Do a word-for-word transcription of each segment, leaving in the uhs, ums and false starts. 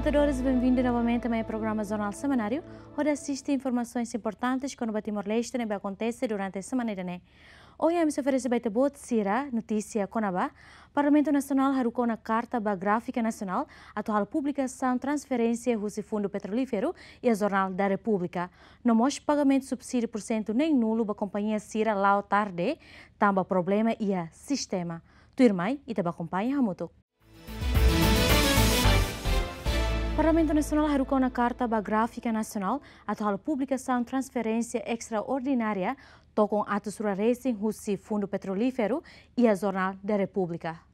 Telespetadores, benvindu novamente mai programa Jornál Semanáriu, hodi asiste informasaun importante kona-ba Timor-Leste ne'ebé akontese durante semana ida-ne'e. Ohin ami sei oferese ba ita-boot sira notísia kona-ba Parlamentu Nasionál haruka ona karta ba Gráfika Nasionál atu halo publikasaun transferénsia husi Fundu Petrolíferu iha Jornál da Repúblika. No mós pagamentu subsídiu pursentu neen-nulu ba kompañia sira la'o tarde, tanba problema iha sistema. Tuirmai, ita bá akompaña hamutuk. Parlamentu Nasionál haruka ona karta ba Gráfika Nasionál atu halo publikasaun transferénsia estraordinária tokon atus rua resin husi Fundu Petrolíferu iha Jornál da Repúblika.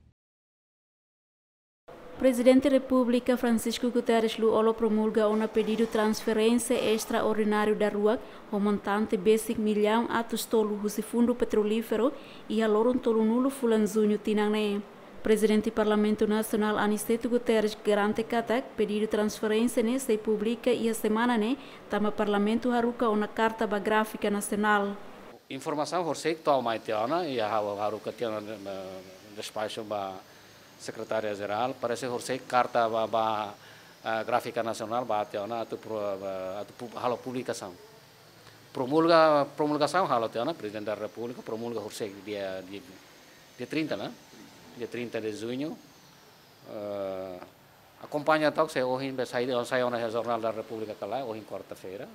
Prezidente Repúblika Francisco Guterres Lú-Olo promulga ona pedidu transferénsia estraordináriu daruak ho montante besik millaun atus tolu husi Fundu Petrolíferu iha loron tolunulu fulan Juñu tinan ne'e. Prezidente Parlamentu Nasionál Aniceto Guterres garante katak pedidu transferénsia ne'e sei publika iha semana ne'e, tanba Parlamentu haruka ona karta ba Gráfika Nasionál. Informasaun horiseik to'o mai tiha ona, iha ha'u haruka tiha ona, eh, despaxu ba Sekretária Jerál, parese horiseik karta ba, ba, eh, Gráfika Nasionál bá tiha ona atu pro-, ba, atu pu-, halo publikasaun. Promulga, promulgasaun halo tiha ona, Prezidente da Repúblika promulga horiseik dia, dia, dia trinta, ne'e? Dia trinta de Junho. Eh, akompaña tok se ohin be sai, sai ona iha Jornál da Repúblika ka lae, ohin kuarta-feira.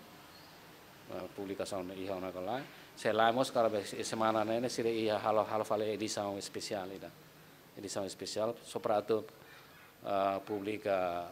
Eh, publikasaun iha ona ka lae. Se lae mós karik be se-, semana ne'e ne'e sira iha halo, halo fali edisaun espesiál ida. Edisaun espesiál só para atu, ah, publika,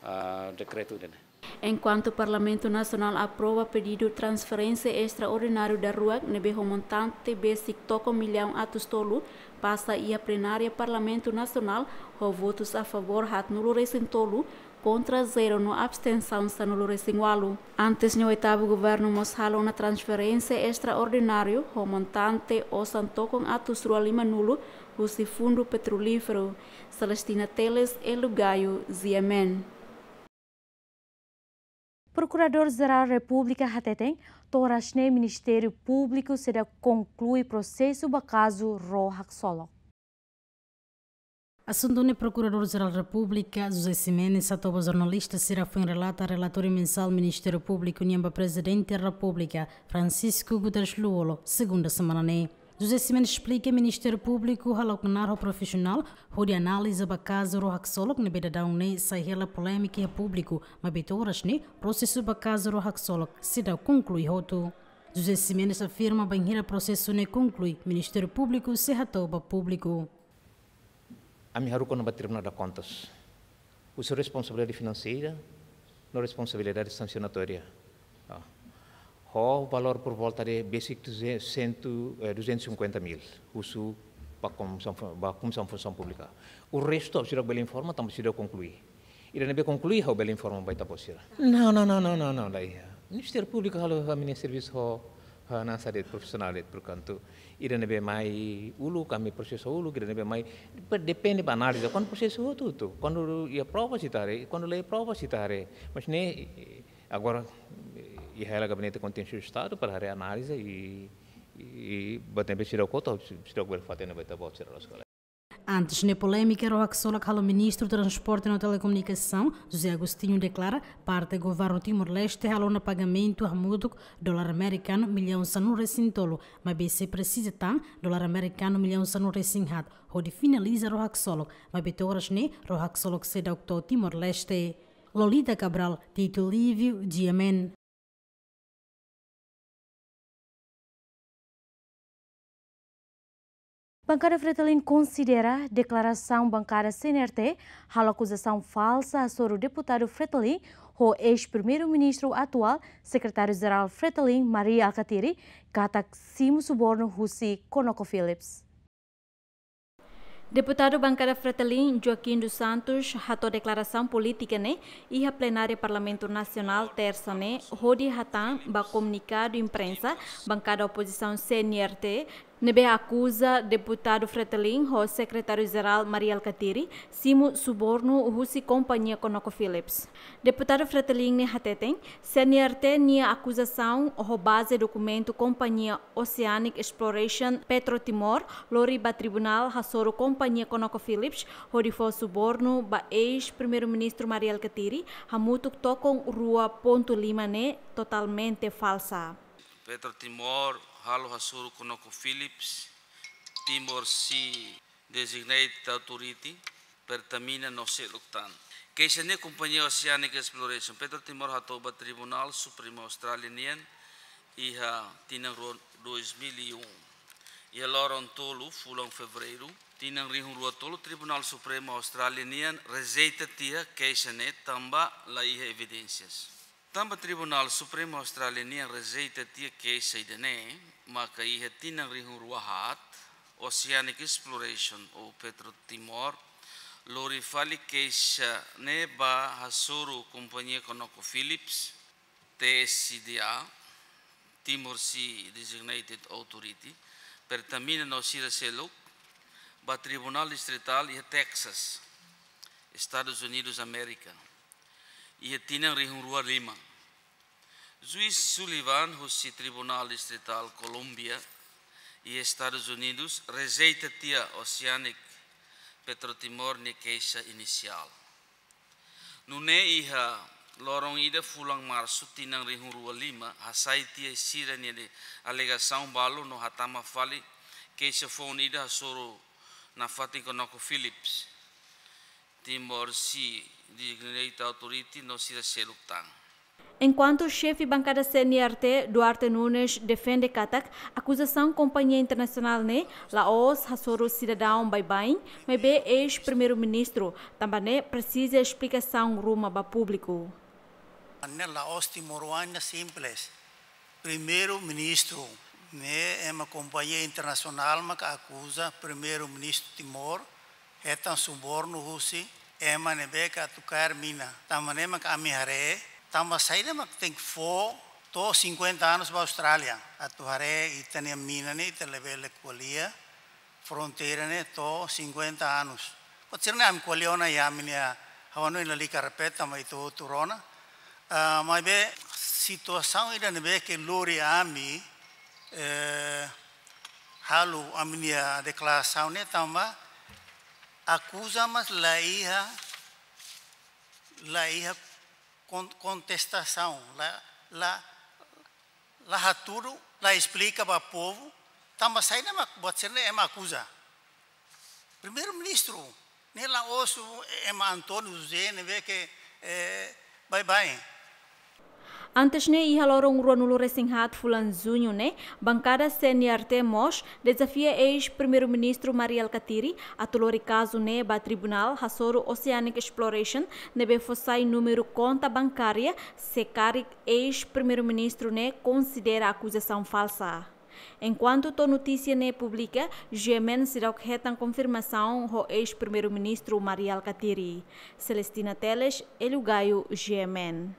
ah, dekretu ida-ne'e. Enkuantu Parlamentu Nasionál aprova pedidu transferénsia estraordináriu daruak ne'ebé ho montante besik tokon millaun atus tolu pasa iha plenária Parlamentu Nasionál ho votus a favór haatnulu resin tolu, kontra zero no abstensaun sanulu resin ualu. Antes ne'e oitavu governu mós halo ona transferénsia estraordináriu ho montante osan tokon atus rua lima-nulu husi Fundu Petrolíferu. Celestina Teles, Elu Gayo, G M N. Prokuradór Jerál Repúblika hateten, to'o oras ne'e Ministériu Públiku seidauk konklui prosesu ba kazu ró haksolok. Asuntu ne'e Prokuradór Jerál Repúblika, José Ximenes, hato'o ba jornalista sira foin relata relatóriu mensál Ministériu Públiku nian ba Prezidente Repúblika, Francisco Guterres Lú-Olo, segunda semana ne'e. José Ximenes esplika Ministériu Públiku halo knaar ho profisionál hodi analiza ba kazu ró haksolok ne'ebé daudaun ne'e sai hela polémika iha públiku, maibé to'o oras ne'e prosesu ba kazu ró haksolok seidauk konklui hotu. José Ximenes afirma bainhira prosesu ne'e konklui, Ministériu Públiku sei hato'o ba públiku. Ami haruka ona ba Tribunál de Contas. Husu responsabilidade finanseira, no responsabilidade sansionatória. Ah. Ho valór por volta de besik duzentos, cento, eh, duzentos e cinquenta mil. Husu ba Komisaun Fu-, ba Komisaun Funsaun Públika. O resto, seidauk bele informa, tanba seidauk konklui. Ida ne'ebé konklui, ha'u bele informa ba ita-boot sira. Não, não, não, não, não, não, la iha. Ministériu Públiku halo ami-nia servisu ho, ho hanesan de'it, profisionál de'it, portantu ida ne'ebé mai uluk, ami prosesa uluk, ida ne'ebé mai, depe-, depende ba análiza. Kuandu prosesu hotu-hotu, kuandu iha prova sei ita haree, kuandu la iha prova sei ita haree. Mas ne'e, eh, agora, eh, iha hela Gabinete Kontenciu Estadu para haree analiza i, i, i buat ne'ebé seidauk hotu, seidauk bele fó-hatene ba ita-boot sira loos ka lae. Antes ne'e polémika ró haksolok halo Ministru Transporte no Telekomunikasaun, José Agostinho, deklara parte governu Timor-Leste halo ona pagamentu hamutuk dolar amerikanu millaun sanulu resin tolu, maibé sei presiza tan dolar amerikanu millaun sanulu resin haat hodi finaliza ró haksolok, maibé to'o oras ne'e ró haksolok seidauk to'o Timor-Leste. Lolita Cabral, Tito Lívio, G M N. Bankada Fretilin konsidera deklarasaun bankada C N R T halo akuzasaun falsa hasoru deputadu Fretilin ho eis-primeiru-ministru atuál, Sekretáriu-Jerál Fretilin, Mari Alkatiri, katak simu subornu husi ConocoPhillips. Deputadu bankada Fretilin, Joaquim dos Santos, hato'o deklarasaun polítika ne'e iha plenária Parlamentu Nasionál, tersa ne'e, hodi hatán ba komunikadu imprensa bankada opozisaun C N R T, ne'ebé akuza Deputadu Fretilin ho Sekretáriu-Jerál Mari Alkatiri simu subornu husi kompañia ConocoPhillips. Deputadu Fretilin ne'e hateten, C N R T nia akuzasaun ho baze dokumentu kompañia Oceanic Exploration Petro Timor lori ba tribunál hasoru kompañia ConocoPhillips hodi fó subornu ba eis-Primeiru-Ministru Mari Alkatiri hamutuk tokon rua pontu lima ne'e totalmente falsa. Petro Timor halo hasoru ConocoPhillips, Timor Sea Designated Authority, Pertamina no seluk tan. Keixa ne'e kompañia Oceanic Exploration Petro Timor hato'o ba Tribunál Supremu Austrália nian iha tinan rua, dois mil e um. Iha loron tolu fulan Fevereiru tinan rihun rua tolu, Tribunál Supremu Austrália nian rejeita tiha keixa ne'e tanba la iha evidénsias. Tanba Tribunál Supremu Austrália nian rejeita tiha keixa ida-ne'e, maka iha tinan rihun rua haat, Oceanic Exploration ou Petro Timor lori fali keixa ne'e ba hasoru kompañia ConocoPhillips, T S D A, Timor Sea Designated Authority, Pertamina no sira seluk, ba Tribunál Distritál iha Texas, Estadus Unidus Amérika, iha tinan rihun rua lima. Juís Sullivan husi Tribunál Distritál Kolómbia iha Estadus Unidus rejeita tiha Oceanic Petro Timor nia keixa inisiál. Nune'e iha loron ida fulan Marsu tinan rihun rua lima, hasai tiha sira-nia alegasaun balu no hatama fali keixa foun ida hasoru nafatin ConocoPhillips, Timor Sea Designated Authority no sira seluk tan. Enkuantu xefe bankada C N R T, Duarte Nunes, defende katak akuzasaun kompañia internasionál ne'e la'ós hasoru sidadaun baibain, maibé eis-Primeiru-Ministru, tanba ne'e presiza esplikasaun ruma ba públiku. Ne'e la'ós timoroan, ne'e simples. Primeiru-Ministru, ne'e ema kompañia internasionál maka akuza Primeiru-Ministru Timor hetan subornu husi ema ne'ebé ke atu kaer mina. Tanba ne'e maka ami haree, tanba saida mak tenke fó to'o cinquenta anos ba Austrália. Atu haree ita-nia mina ne'e ita labele ko'alia fronteira ne'e to'o cinquenta anos. Buat sira-ne'e ami ko'alia ona iha ami-nia, ha'u hanoin lalika repete, maibé ita hotu rona. Ah, maibé situasaun ida ne'ebé ke lori ami, eh, halo ami-nia deklarasaun ne'e tanba akuza mas la iha, la iha kon-, kontestasaun, la, la, la hatudu, la esplika ba povu, tanba saida mak buat sira-ne'e ema akuza. Primeiru-Ministru, ne'e la'ós ema António José ne'ebé ke, eh, baibain. Antes ne'e iha loron ruanulu resin haat fulan Juñu ne'e, bankada C N R T mós dezafia eis-Primeiru-Ministru Mari Alkatiri atu lori kazu ne'e ba tribunál hasoru Oceanic Exploration ne'ebé fó sai númeru konta bankária, se karik eis-Primeiru-Ministru ne'e konsidera akuzasaun falsa. Enkuantu to'o notísia ne'e publika, G M N seidauk hetan konfirmasaun ho eis-Primeiru-Ministru Mari Alkatiri. Celestina Teles, Hélio Gaio, G M N.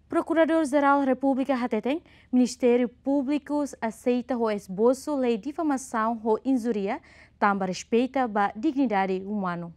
Prokuradór-Jerál Repúblika hateten, Ministériu Públiku aseita ho esbosu lei difamasaun ho injúria, tanba respeita ba dignidade umanu.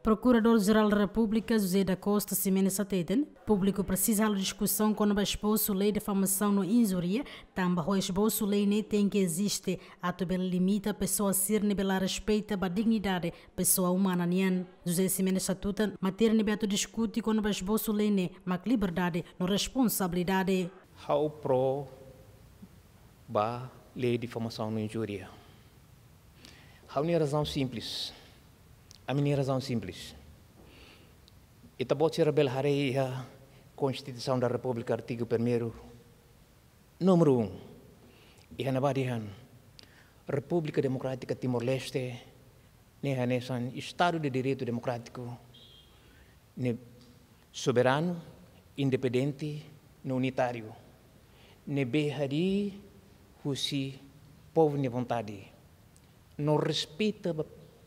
Prokuradór-Jerál Repúblika José da Costa Ximenes hateten, públiku presiza halo diskusaun kona-ba esbosu lei difamasaun no injúria, tanba ho esbosu lei ne'e tenke eziste atu bele limita pesoa sira ne'ebé la respeita ba dignidade pesoa umana nian. José Ximenes hatutan, matéria ne'ebé atu diskute kona-ba esbosu lei ne'e mak liberdade no responsabilidade. Ha'u pró ba lei difamasaun no injúria. Ha'u-nia razaun simples. Ami-nia razaun simples. Ita-boot sira bele haree iha Constituição da República, artigu primeiru, númeru um. Iha ne'ebá dehan, República Democrática Timor-Leste ne'e hanesan Estadu de Direitu Demokrátiku ne'e soberanu, independente no unitáriu, ne'ebé harii husi povu nia vontade, no respeita ba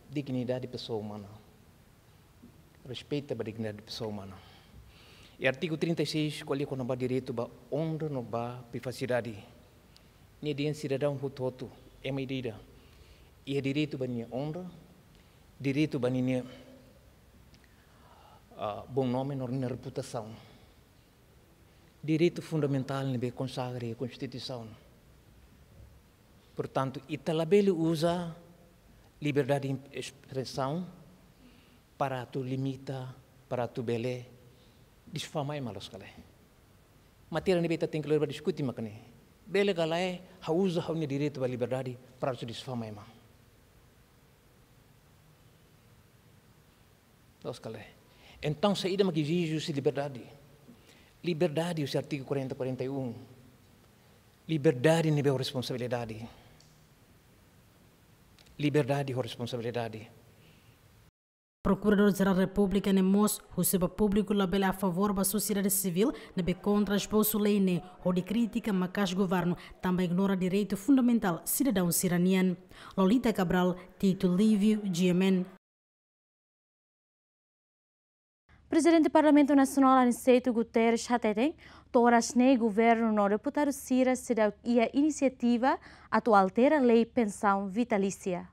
dignidade pesoa umana. Respeita ba dignidade pesoa umana. I artigu trinta e seis ko'alia kona-ba direitu ba onra no ba privasidade. Nia dehan sidadaun hotu-hotu, ema ida-ida iha direitu ba nia onra, direitu ba ninia, ah, bom nome no nia reputasaun. Direitu fundamentál ne'ebé konsagra iha Konstituisaun. Portantu, ita labele uza liberdade espresaun para atu limita, para atu bele difama ema, loos ka lae. Matéria ne'ebé ita tenke lori ba diskute mak ne'e. Bele ka lae ha'u uza ha'u-nia direitu ba liberdade para atu difama ema, loos ka lae. Entaun, saida mak ezije husi liberdade? Liberdade husi artigu quarenta, quarenta e um. Liberdade ne'ebé ho responsabilidade. Liberdade ho responsabilidade. Prokuradór Jerál Repúblika ne'e mós husu ba públiku labele a favór ba sosiedade sivíl ne'ebé kontra esbosu lei ne'e, hodi kritika maka'as governu, tanba ignora direitu fundamentál sidadaun sira-nian. Lolita Cabral, Tito Lívio, G M N. Prezidente Parlamentu Nasionál Aniceto Guterres hateten, to'o oras ne'e governu no deputadu sira seidauk iha inisiativa atu altera lei pensaun vitalísia.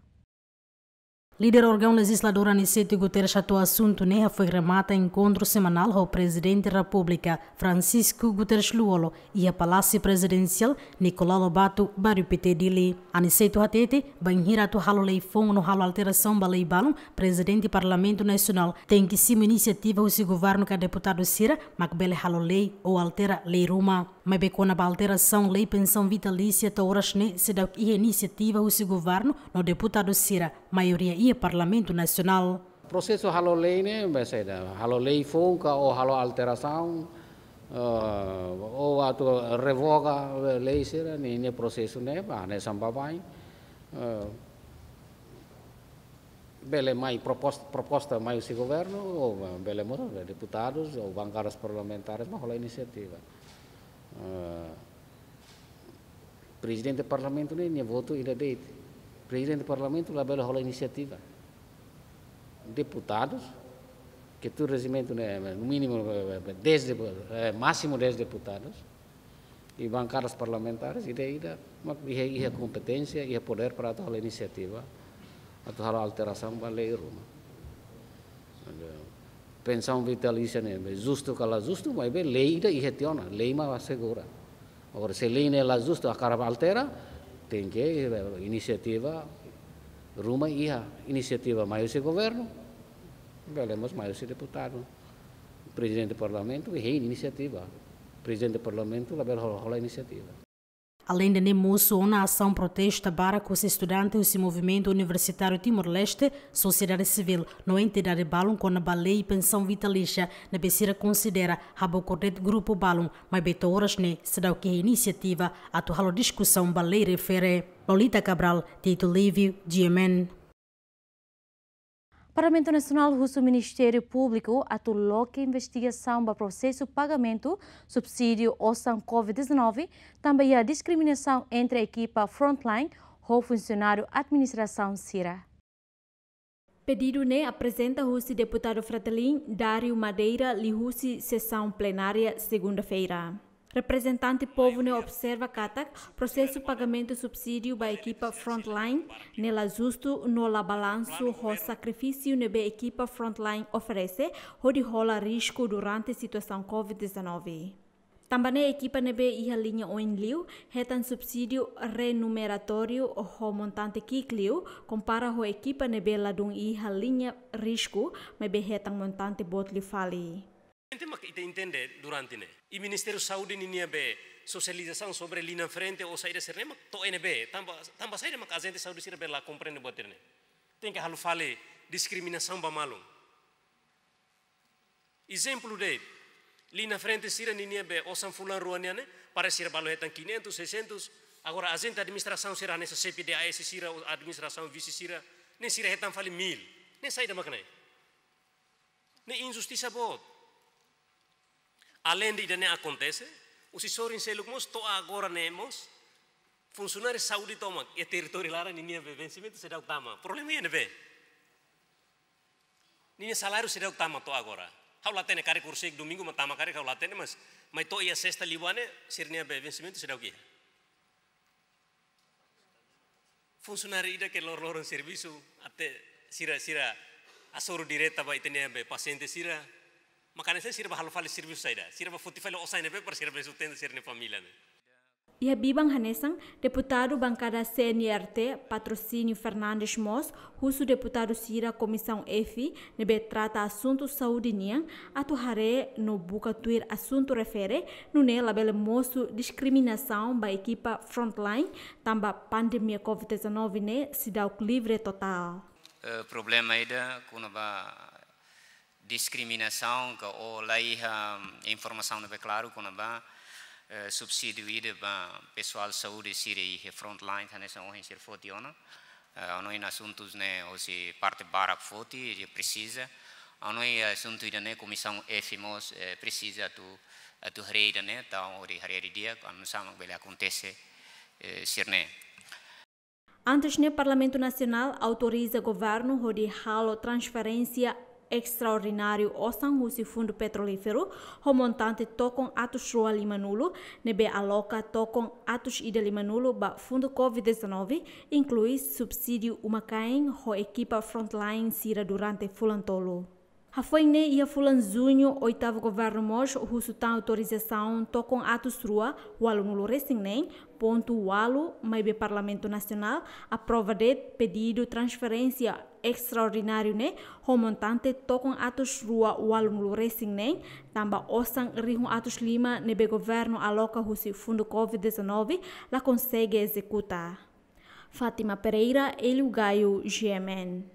Líder órgaun lejizladór Aniceto Guterres hato'o asuntu ne'e hafoin remata enkontru semanál ho Prezidente Repúblika Francisco Guterres Lú-Olo iha Palásiu Prezidensiál Nicolau Lobato, Bairru Pité, Dili. Aniceto hatete, bainhira atu halo lei foun no halo alterasaun ba lei balun, Prezidente Parlamentu Nasionál tenke simu inisiativa husi governu ka deputadu sira mak bele halo lei ou altera lei ruma. Maibé kona-ba alterasaun lei pensaun vitalísia, to'o oras ne'e seidauk iha inisiativa husi governu no deputadu sira, maioria iha Parlamentu Nasionál. Prosesu halo lei ne'e, be saida, halo lei foun ka ou halo alterasaun, eh, ou atu revoga lei sira, ne'e, ne'e prosesu ne'e, ba, ne'e samba bai. Eh, bele mai propos-, proposta mai husi governu, ou bele mós deputadus, ou bankadas parlamentares, mak hola inisiativa. Eh, Prezidente Parlamentu ne'e, nia votu ida de'it. Prezidente Parlamentu labele hola inisiativa. Deputadus, ke tuir rejimentu ne'e, no mínimu, eh, dez depu-, eh, másimu dez deputadus. I bankadas parlamentares, ida-idak, mak iha, iha kompeténsia, iha podér para atu hola inisiativa, atu halo alterasaun ba lei ruma. Pensaun vitalísia ne'e, be justu ka la justu, maibé lei ida iha tiha ona, lei mak asegura. Agora, se lei ne'e la justu, hakarak altera, tenke, eh, inisiativa ruma iha, inisiativa mai husi governu, bele mós mai husi deputadu. Prezidente Parlamentu hein inisiativa. Prezidente Parlamentu labele hola, hola inisiativa. Aleinde ne'e, mosu ona asaun protesta barak husi estudante husi Movimentu Universitáriu Timor-Leste, sosiedade sivíl no entidade balun kona-ba lei pensaun vitalísia ne'ebé sira konsidera habokur de'it grupu balun, maibé to'o oras ne'e seidauk iha inisiativa atu halo diskusaun ba lei refere. Lolita Cabral, Tito Lívio, G M N. Parlamentu Nasionál husu Ministériu Públiku atu loke investigasaun ba prosesu pagamentu subsídiu osan covid dezanove, tanba iha diskriminasaun entre ekipa frontline ho funsionáriu administrasaun sira. Pedidu ne'e aprezenta husi deputadu Fretilin, Dário Madeira, liuhusi sesaun plenária segunda-feira. Reprezentante povu ne'e observa katak prosesu pagamentu subsídiu ba ekipa frontline ne'e la justu no la balansu ho sakrifísiu ne'ebé ekipa frontline oferese hodi hola risku durante situasaun covid dezanove. Tanba ne'e ekipa ne'ebé iha liña oin liu hetan subsídiu renumeratóriu ho montante ki'ik liu, kompara ho ekipa ne'ebé ladún iha liña risku, maibé hetan montante boot liu fali. Ente mak ita entende durante ne'e. I Ministériu Saúde ninia be sosializasaun sobre liña frente ou saida sira-ne'e mak to'o iha ne'ebé. Tanba, tanba saida mak ajente saúde sira be la komprende buat ida-ne'e. Tenke halo fali diskriminasaun ba malu. Ezemplu de'it, liña frente sira ninia be osan fulan rua nian ne'e, para sira balu hetan quinhentos, seiscentos, agora ajente administrasaun sira hanesan xefe D A S sira, administrasaun vise sira, ne'e sira hetan fali mil. Ne'e saida mak ne'e? Ne'e injustisa boot. Aleinde ida-ne'e akontese, husi sorin seluk mós to'o agora ne'e mós, funsionáriu saúde tomak iha territóriu laran ninia be vensimentu seidauk tama. Problema iha ne'ebé? Ninia saláriu seidauk tama to'o agora. Ha'u la hatene karik horiseik domingu mak tama karik ha'u la hatene, mas mai to'o iha sesta liubá ne'e sira-nia be vensimentu seidauk iha. Funsionáriu ida ke lor-loron servisu, até sira, sira hasoru direta ba ita-nia be pasiente sira. Maka hanesan sira bá halo fali servisu saida. Sira bá foti fali osan ne'ebé para sira bele sustenta sira-nia família ne'e. Iha biban hanesan, deputadu bankada C N R T, Patrocínio Fernandes mós husu deputadu sira Komisaun F, ne'ebé trata asuntu saúde nian, atu haree no buka tuir asuntu refere, nune'e labele mosu diskriminasaun ba ekipa frontline, tanba pandemia covid dezanove ne'e seidauk livre totál. Eh, problema ida kona-ba diskriminasaun ka ou la iha, mm, informasaun ne'ebé klaru kona-ba, eh, subsídiu ida ba pesoál saúde sira iha frontline, hanesan ohin sira foti ona. Eh, ha'u hanoin asuntus ne'e hosi parte barak foti, i presiza. Ha'u hanoin asuntu ida-ne'e Komisaun F mós, eh, presiza atu, atu haree ida-ne'e, entaun hodi haree didi'ak, oinsá mak bele akontese, eh, sira-ne'e. Antes ne'e, Parlamentu Nasionál autoriza governu hodi halo transferénsia estraordináriu osan husi Fundu Petrolíferu ho montante tokon atus rua limanulu, ne'ebé aloka tokon atus ida limanulu ba Fundu covid dezanove, inklui subsídiu uma-kain ho ekipa frontline sira durante fulan tolu. Hafoin ne'e iha fulan Juñu, oitavu governu mós husu tan autorizasaun tokon atus rua ualunulu resin neen pontu ualu, maibé Parlamentu Nasionál aprova de'it pedidu transferénsia estraordináriu ne'e ho montante tokon atus rua ualunulu resin neen, tanba osan rihun atus lima ne'ebé governu aloka husi Fundu covid dezanove la konsege ezekuta. Fátima Pereira, Hélio Gaio, G M N.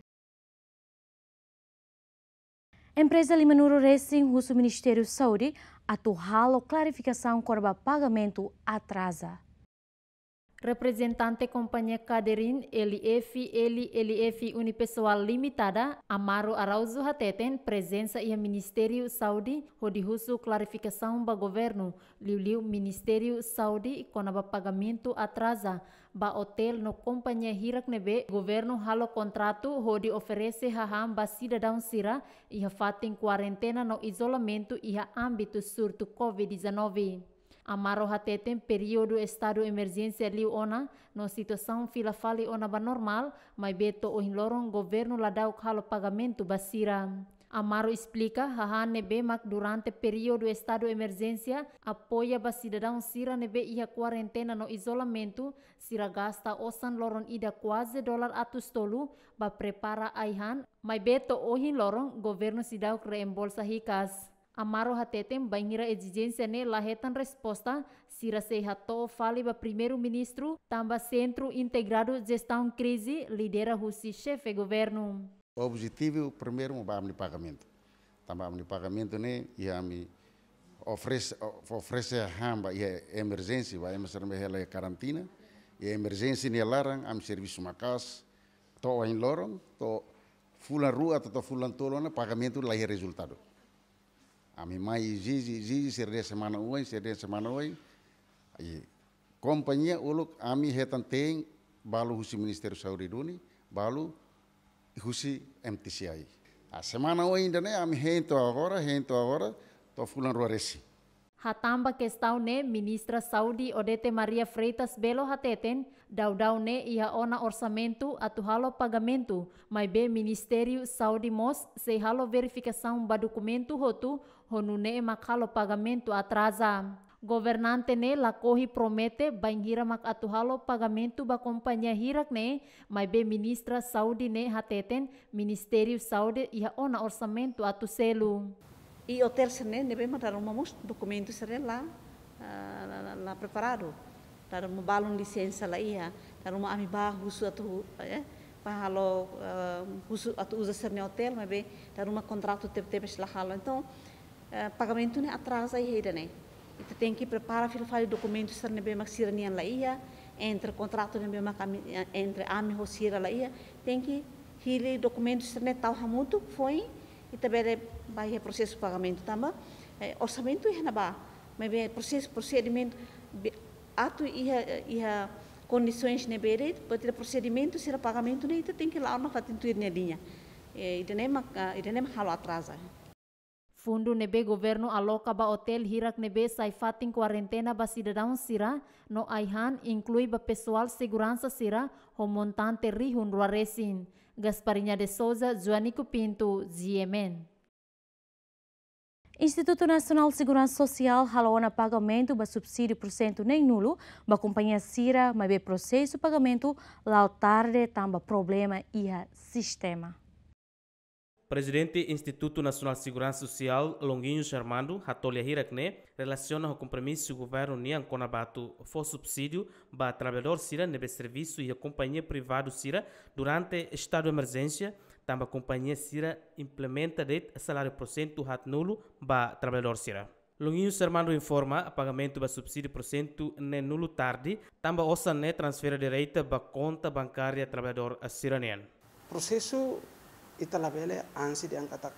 Empreza limanulu resin husu Ministériu Saúde atu halo klarifikasaun kona-ba pagamentu atraza. Reprezentante kompañia Kaderin L F L L F Unipessoal Limitada, Amaro Araújo hateten prezensa iha Ministériu Saúde hodi husu klarifikasaun ba governu, liuliu Ministériu Saúde kona-ba pagamentu atraza ba otél no kompañia hirak ne'ebé governu halo kontratu hodi oferese hahán ba sidadaun sira iha fatin kuarentena no izolamentu iha ámbitu surtu covid dezanove. Amaro hateten períodu estadu emerjénsia liu ona no situasaun fila fali ona ba normál, maibé to'o ohin loron governu ladauk halo pagamentu ba sira. Amaro esplika, hahán ne'ebé mak durante períodu estadu emerjénsia apoia ba sidadaun sira ne'ebé iha kuarentena no izolamentu, sira gasta osan loron ida kuaze dolar atus tolu ba prepara ai-han, maibé to'o ohin loron governu seidauk reembolsa hikas. Amaro hateten bainhira ezijénsia ne'e la hetan resposta, sira sei hato'o fali ba Primeiru-Ministru, tanba Sentru Integradu Jestaun Krize lidera husi xefe governu. Objetivu primeiru ba ami-nia pagamentu. Tanba ami-nia pagamentu ne'e, iha ami oferese, oferese hahán ba iha emerjénsia, ba ema sira ne'ebé hela iha karantina, iha emerjénsia nia laran, ami servisu maka'as, to'o ohin loron, to'o fulan rua, to'o fulan tolu ona, pagamentu la iha rezultadu. Ami mai ezije, ezije, sira dehan semana oin, sira dehan semana oin. I kompañia uluk ami hetan te'in balu husi Ministériu Saúde duni, balu husi M T C I. Ah, semana oin ida-ne'e ami hein to'o agora, hein to'o agora, to'o fulan rua resin. Hatán ba kestaun ne'e, Ministra Saúde Odete Maria Freitas Belo hateten, daudaun ne'e iha ona orsamentu atu halo pagamentu, maibé Ministériu Saúde mós sei halo verifikasaun ba dokumentu hotu, ho nune'e mak halo pagamentu atraza. Governante ne'e lakohi promete bainhira mak atu halo pagamentu ba kompañia hirak ne'e, maibé Ministra Saúde ne'e hateten Ministériu Saúde iha ona orsamentu atu selu. I otél sira-ne'e, ne'ebé mak dala ruma mós dokumentu sira-ne'e la, ah, la, la, la preparadu. Dala ruma balun lisensa la iha, dala ruma ami bá husu atu, eh, bá halo, eh, husu atu uza sira-nia otél, maibé dala ruma kontratu tebe-tebes la halo. Entaun, eh, pagamentu ne'e atraza iha ida-ne'e. Ita tenke prepara fila fali dokumentu sira ne'ebé mak sira-nian la iha, entre kontratu ne'ebé mak ami, eh, entre ami ho sira la iha, tenke hili dokumentu sira-ne'e tau hamutuk, foin ita bele bá iha prosesu pagamentu tanba, eh, orsamentu iha ne'ebá, maibé prosesu, prosedimentu, be-, atu iha, iha kondisoens ne'ebé de'it, buat ida prosedimentu sira pagamentu ne'e ita tenke la'o ona fatin tuir nia liña. Eh, ida-ne'e mak, ah, ida-ne'e mak halo atraza. Fundu ne'ebé governu aloka ba otél hirak ne'ebé sai fatin kuarentena ba sidadaun sira no ai-han inklui ba pesoál seguransa sira ho montante rihun rua resin. Gasparinha de Souza, Joanico Pinto, G M N. Institutu Nasionál Seguransa Sosiál halo ona pagamentu ba subsídiu pursentu neen-nulu ba kompañia sira, maibé prosesu pagamentu la'o tarde tanba problema iha sistema. Prezidente Institutu Nasionál Seguransa Sosiál, Longuinhos Armando, hato'o lia hirak ne'e relasiona ho kompromisu governu nian kona-ba atu fó subsídiu ba traballadór sira ne'ebé servisu iha kompañia privadu sira durante estadu emerjénsia, tanba kompañia sira implementa de'it saláriu pursentu haat-nulu ba traballadór sira. Longuinhos Armando informa, pagamentu ba subsídiu pursentu neen-nulu tarde, tanba osan ne'e transfere direta ba konta bankária traballadór sira-nian. Prosesu ita labele ansi dehan katak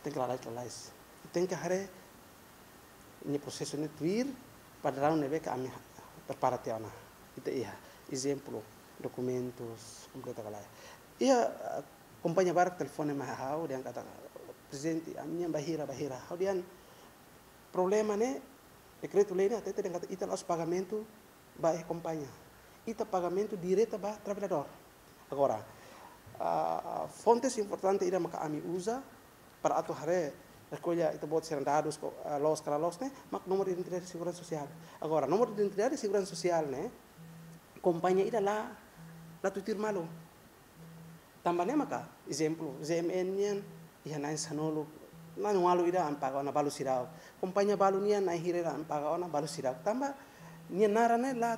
tenke lalais, lalais. Tenke haree nia prosesu ne'e tuir padraun ne'ebé ke ami prepara tiha ona. Ita iha ezemplu, dokumentus kompleta ka lae. Iha, eh, kompañia barak telefone mai ha'u dehan katak, "Prezidente, ami-nian bainhira, bainhira." Ha'u dehan, problema ne'e, dekretu-lei ne'e hatete dehan katak ita la'ós pagamentu ba iha kompañia. Ita pagamentu direta ba traballadór. Agora, ah, fontes importante ida maka ami uza para atu haree rekolla ita-boot sira-nia dadus ko, ah, loos ka la loos ne'e, mak númeru identidade seguransa sosiál. Agora, númeru identidade seguransa sosiál ne'e, kompañia ida la, la tuir malu. Tanba ne'e maka, ezemplu, G M N nian, iha na'in sanulu, na'in ualu ida ami paga ona balu seidauk. Kompañia balu nian, na'in hira ida ami paga ona balu seidauk. Tanba nia naran ne'e la,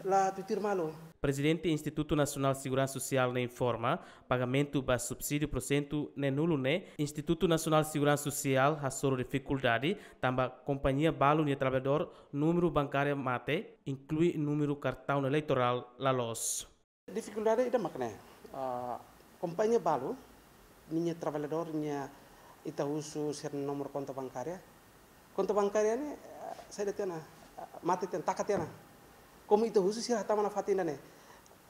la tuir malu. Prezidente Institutu Nasionál Seguransa Sosiál ne'e informa, pagamentu ba subsídiu pursentu neen-nulu ne'e, Institutu Nasionál Seguransa Sosiál hasoru difikuldade, tanba kompañia balu nia traballadór númeru bankária mate, inklui númeru kartaun eleitorál la loos. Difikuldade ida mak ne'e, ah, kompañia balu, ninia traballadór, nia ita husu sira-nia númeru konta bankária. Konta bankária ne'e, ah, saida tiha ona, ah, mate tiha ona, taka tiha ona. Komu ita husu sira hatama nafatin ida-ne'e.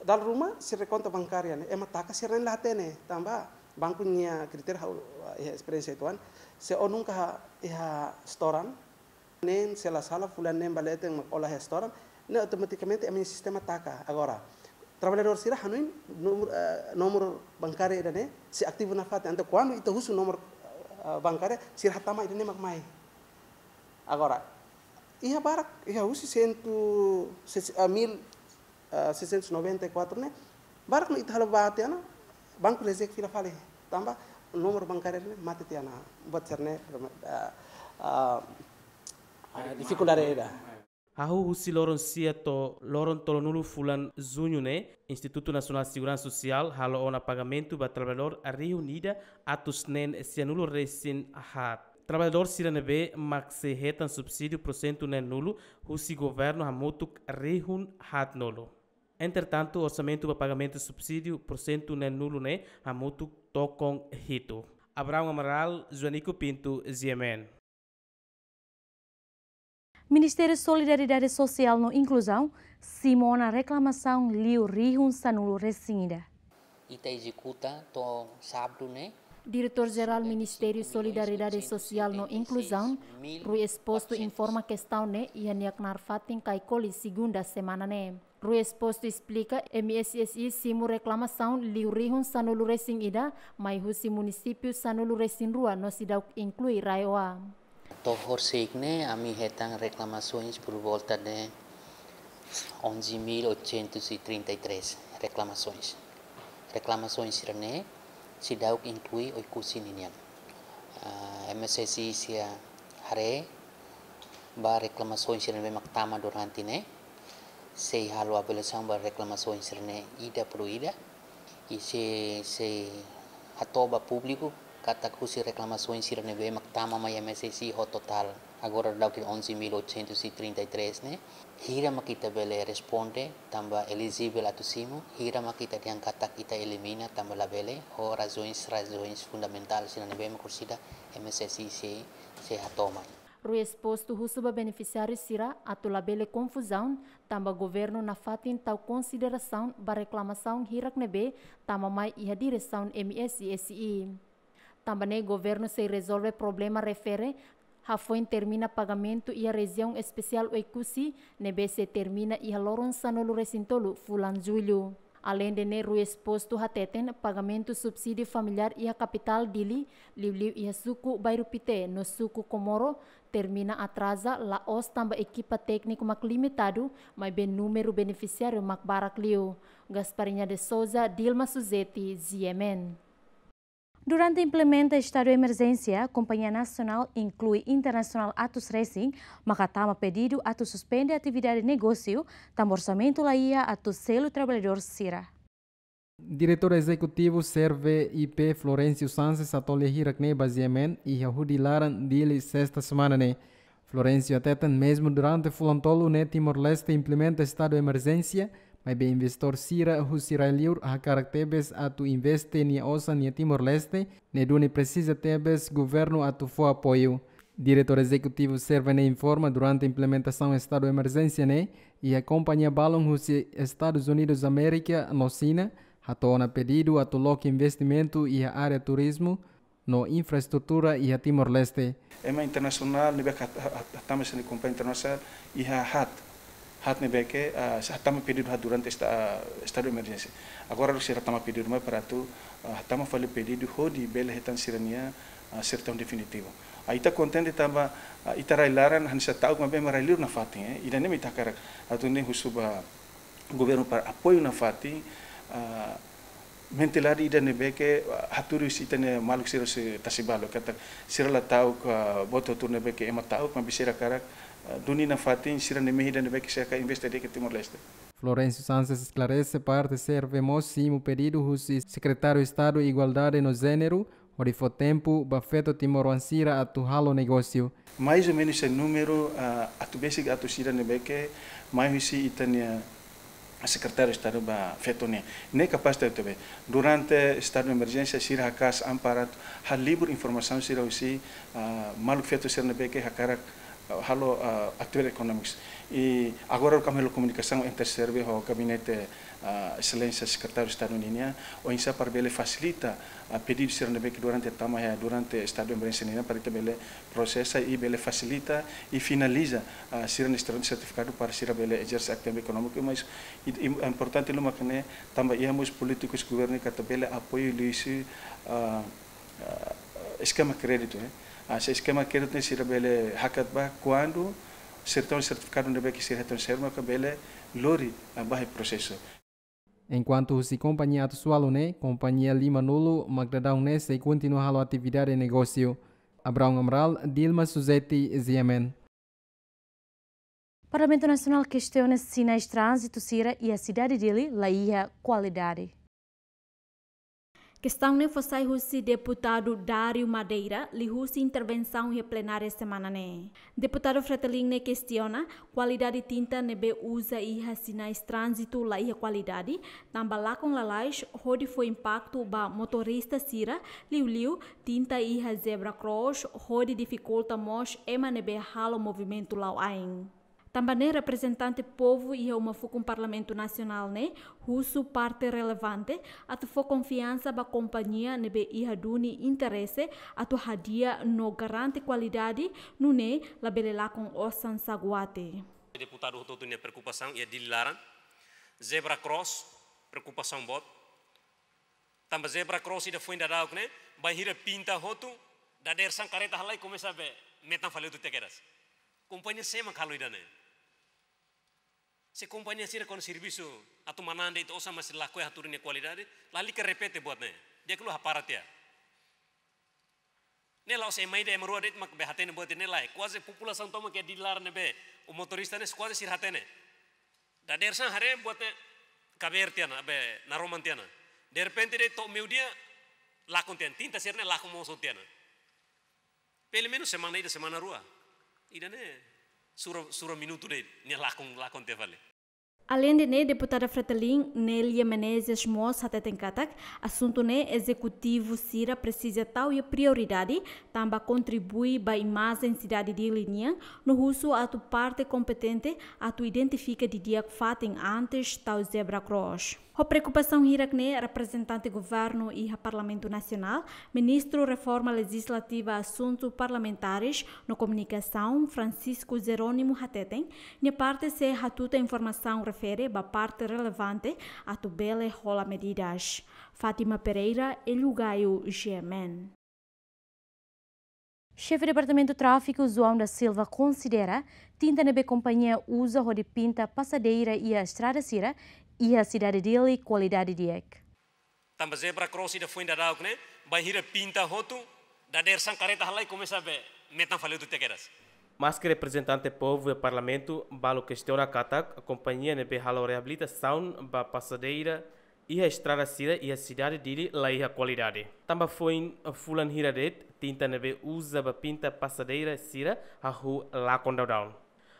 Dala ruma sira konta bankária ne'e, ema taka sira-nia la hatene, tanba banku nia kritériu ha'u, ah, iha esperiénsia uitoan, se ó nunka iha setoran, neen, se la sala, fulan neen ba leten mak ó la iha setoran, ne'e automatikamente ami-nia sistema taka. Agora, traballadór sira hanoin númeru, eh, númeru bankária ida-ne'e sei ativu nafatin. Entaun kuandu ita husu númeru, eh, bankária, sira hatama ida-ne'e mak mai. Agora, iha barak, iha husi sentu, ses-, eh, mil, eh, seiscentos e noventa e quatro ne'e, barak no ita halo ba tiha ona, banku reject fila fali. Tanba númeru bankária ne'e mate tiha ona, buat sira-ne'e, eh, eh, eh, difikuldade ida. Hahú husi loron sia to'o loron tolunulu fulan Juñu ne'e, Institutu Nasionál Seguransa Sosiál halo ona pagamentu ba traballadór rihun ida atus neen sianulu resin haat. Traballadór sira ne'ebé mak sei hetan subsídiu pursentu neen-nulu husi governu hamutuk rihun haat-nulu. Entretantu, orsamentu ba pagamentu subsídiu pursentu neen-nulu ne'e hamutuk tokon hitu. Abraão Amaral, Joanico Pinto, G M N. Ministériu Solidariedade Sosiál no Inkluzaun simu ona reklamasaun liu rihun sanulu resin ida. Ita ezekuta to'o sábadu ne'e. Diretór Jerál Ministériu Solidariedade Sosiál no Inkluzaun, Rui Exposto, informa kestaun ne'e iha nia knaar fatin Caicoli, segunda semana ne'e. Rui Exposto esplika, M S S I simu reklamasaun liu rihun sanulu resin ida, mai husi munisípiu sanulu resin rua no seidauk inklui RAEOA. To'o horisehik ne'e ami hetan reklamasoens por volta de onze mil oitocentos e trinta e três reklamasoens. Reklamasoens sira-ne'e seidauk inklui Oekusi ninian. Ah, M S S I sei haree ba reklamasoens sira ne'ebé mak tama durante ne'e, sei halo avaliasaun ba reklamasoens sira-ne'e ida por ida, i sei, sei hato'o ba públiku katak husi reklamasoens sira ne'ebé mak tama mai M S S I ho totál agora daudaun onze mil oitocentos e trinta e três ne'e, hira mak ita bele responde tanba elijivel atu simu, hira mak ita dehan katak ita elimina tanba labele, ho razoens, razoens fundamentál sira ne'ebé mak orsida M S S I sei, sei hato'o mai. Rui Exposto husu ba benefisiáriu sira atu labele konfuzaun, tanba governu nafatin tau konsiderasaun ba reklamasaun hirak ne'ebé tama mai iha diresaun M S S I. Tanba ne'e governu sei rezolve problema refere hafoin termina pagamentu iha rejiaun espesiál Oekusi ne'ebé sei termina iha loron sanulu-resin-tolu fulan Jullu. Aleinde ne'e, Rui Exposto hateten pagamentu subsídiu familiár iha kapitál Dili, liuliu iha suku Bairru Pité no suku Comoro, termina atraza, la'ós tanba ekipa tékniku mak limitadu, maibé númeru benefisiáriu mak barak liu. Gasparinha de Souza, Dilma Suzeti, G M N. Durante implementa estadu emerjénsia, kompañia nasionál inklui internasionál atus resin maka tama pedidu atu suspende atividade negósiu, tanba orsamentu laiha atu selu traballadór sira. Diretór Ezekutivu Serve I P Florencio Sanches hato'o lia hirak-ne'e ba G M N iha Hudi Laran, Dili, sesta semana ne'e. Florencio hateten, mezmu durante fulan tolu ne'e Timor-Leste implementa estadu emerjénsia, maibé investidór sira husi rai-liur hakarak tebes atu investe nia osan iha Timor-Leste, ne'e duni presiza tebes governu atu fó apoiu. Diretór Ezekutivu Serve ne'e informa, durante implementasaun estadu emerjénsia ne'e, iha kompañia balun husi Estadus Unidus Amérika no Xina hato'o ona pedidu atu loke investimentu iha área turizmu no infraestrutura iha Timor-Leste. Ema internasionál ne'ebé hat-, hat-, hat-, hatama sira-nia kompañia internasionál iha haat. Haat ne'ebé ke, ah, hatama pedidu haat durante esta-, ah, estadu emerjénsia. Agora sira hatama pedidu mai para atu, ah, hatama fali pedidu hodi bele hetan sira-nia, ah, sertaun definitivu. Ah, ita kontente tanba, ah, ita rai-laran hanesan ta'uk maibé ema rai-liur nafatin, eh. Ida-ne'e mak ita hakarak atu nune'e husu ba governu para apoiu nafatin, ah, mentalidade ida ne'ebé ke, ah, hatudu husi ita-nia maluk sira husi Tasi Balu, katak sira la ta'uk, ah, boot hotu ne'ebé ke ema ta'uk, maibé sira hakarak, ah, duni nafatin sira-nia mehi ida ne'ebé ke sira hakarak investe de'it iha Timor-Leste. Florencio Sanches esklarese, parte Serve mós simu pedidu husi Sekretáriu Estadu Igualdade no Jéneru, hodi fó tempu ba feto timoroan sira atu halo negósiu. Mais ou menus iha númeru, ah, atu besik atus ida ne'ebé ke mai husi ita-nia Sekretáriu Estadu ba feto nian. Ne'e kapás tebetebes. Durante estadu emerjénsia sira haka'as an para halibur informasaun sira husi, ah, maluk feto sira ne'ebé ke hakarak, ah, halo, ah, atividade ekonómika. I agora ami halo komunikasaun entre Serve ho gabinete, ah, Exelénsia Sekretáriu Estadu ninian, oinsá para bele fasilita, ah, pedidu sira ne'ebé ke durante tama iha durante estadu emerjénsia ninian para ita bele prosesa i bele fasilita i finaliza, ah, sira-nia sertifikadu para sira bele ezerse atividade ekonómika, mas i, i, importante liu mak ne'e tanba iha mós polítikus governu katak bele apoiu liuhusi, ah, ah, eskema kréditu, eh. Ah, se eskema kréditu ne'e sira bele hakat ba kuandu sertaun sertifikadu ne'ebé ke sira hetan, sira maka bele lori, ah, ba iha prosesu. Enkuantu husi kompañia atus ualu ne'e, kompañia lima-nulu mak daudaun ne'e sei kontinua halo atividade negósiu. Abraão Amaral, Dilma Suzeti, G M N. Parlamentu Nasionál kestiona sinais tránzitu sira iha sidade Dili laiha kualidade. Kestaun ne'e fó sai husi deputadu Dário Madeira, liuhusi intervensaun iha plenária semana ne'e. Deputadu Fretilin ne'e kestiona kualidade tinta ne'ebé uza iha sinais tránzitu laiha kualidade, tanba lakon lalais hodi fó impaktu ba motorista sira, liuliu tinta iha zebra cross hodi difikulta mós ema ne'ebé halo movimentu la'o ain. Tanba ne'e reprezentante povu iha uma fukun Parlamentu Nasionál ne'e husu parte relevante atu fó konfiansa ba kompañia ne'ebé iha duni interese atu hadi'a no garante kualidade, nune'e labele lakon osan saguate. Deputadu hotu-hotu nia preokupasaun iha Dili laran, zebra cross, preokupasaun boot. Tanba zebra cross ida foin daudauk ne'e, bainhira pinta hotu, dadeer-saan karreta halai komesa be metan fali hotu tiha kedas. Kompañia sé mak halo ida-ne'e? Se kompañia sira kuandu servisu atu manán de'it osan mas lakohi hatudu nia kualidade, lalika repete buat ne'e. Di'ak liu hapara tiha. Ne'e la'ós ema ida ema rua de'it mak be hatene buat ne'e lae. Kuaze populasaun tomak iha Dili laran ne'ebé, o motorista ne'e kuaze sira hatene. Dadeer-saan haree buat ne'e kabeer tiha ona, be naroman tiha ona. Derrepente de'it to'o meiudia, lakon tiha ona. Tinta sira-ne'e lakon mós tiha ona. Pelumenus semana ida, semana rua. Ida-ne'e sura, sura minutu de'it, nia lakon, lakon tiha fali. Aleinde ne'e, Deputada Fretilin, Nélia Menezes mós hateten katak asuntu ne'e ezekutivu sira presiza tau iha prioridade, tanba kontribui ba imajen sidade Dili nian, no husu atu parte kompetente atu identifika didi'ak fatin antes tau zebra cross. Ho preokupasaun hirak-ne'e, reprezentante governu iha Parlamentu Nasionál, Ministru Reforma Lejizlativa, Asuntu Parlamentares no Komunikasaun, Francisco Jerónimo hateten, nia parte sei hatutan informasaun refere ba parte relevante atu bele hola medidas. Fátima Pereira, Elio Gaio, G M N. Xefe Departamentu Tráfiku, João da Silva, konsidera tinta ne'ebé kompañia uza hodi pinta pasadeira iha estrada sira iha sidade Dili kualidade di'ak. Tanba zebra cross ida foin daudauk ne'e, bainhira pinta hotu, dadeer-saan karreta halai komesa be metan fali hotu tiha kedas. Maske reprezentante povu iha Parlamentu, balu kestiona katak kompañia ne'ebé halo reabilitasaun ba pasadeira iha estrada sira iha sidade Dili la iha kualidade. Tanba foin fulan hira de'it, tinta ne'ebé uza ba pinta pasadeira sira hahú lakon daudaun.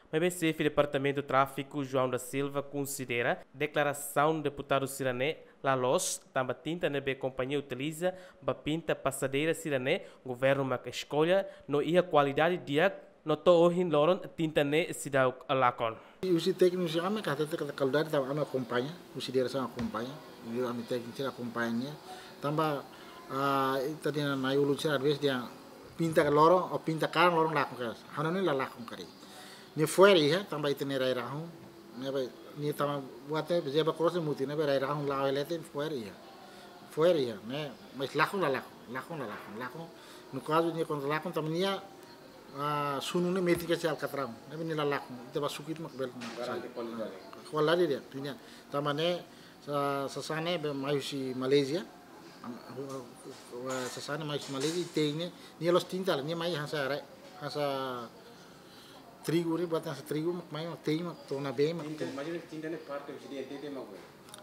Maibé Xefe Departamentu Tráfiku, João da Silva, konsidera deklarasaun deputadu sira-ne'e la loos, tanba tinta ne'ebé kompañia utiliza ba pinta pasadeira sira-ne'e, governu mak eskolla, no iha kualidade di'ak, no to'o ohin loron tinta ne'e seidauk lakon. Husi tékniku sira mak hatete katak kualidade, tanba ami akompaña, husi diresaun akompaña, ami tékniku sira akompaña. Tanba, ah, ita dehan nai ulun sira às vezes dehan pinta loron, ou pinta kalan loron lakon kedas. Ha'u hanoin la lakon karik. Nia fo'er iha, tanba ita-nia rai-rahun. Ne'ebé, nia tanba buat ne'e zebra cross ne'e mutin, ne'ebé rai-rahun la'o leten fo'er iha. Fo'er iha, ne'e, mas lakon la lakon, lakon la lakon, lakon. No kazu nia kuandu lakon tanba nia, ah, sunu ne'e metin kedas iha alkatraun. Ne'ebé nia la lakon, ita ba suku ita mak bele. Garante kualidade. Kualidade di'ak, nia. Tanba ne'e, sa-, sasán ne'e be mai husi Malázia. Am-, hu-, hu-, hu-, sasán ne'e mai husi Malázia, i te'in ne'e, nia la'ós tinta, nia mai hanesan re-, hanesan trigu ne'e, buat hanesan trigu, mak mai, mak te'in, mak to'o ona bee, mak. Tinta, imajina tinta ne'e parte husi D N T T mak be.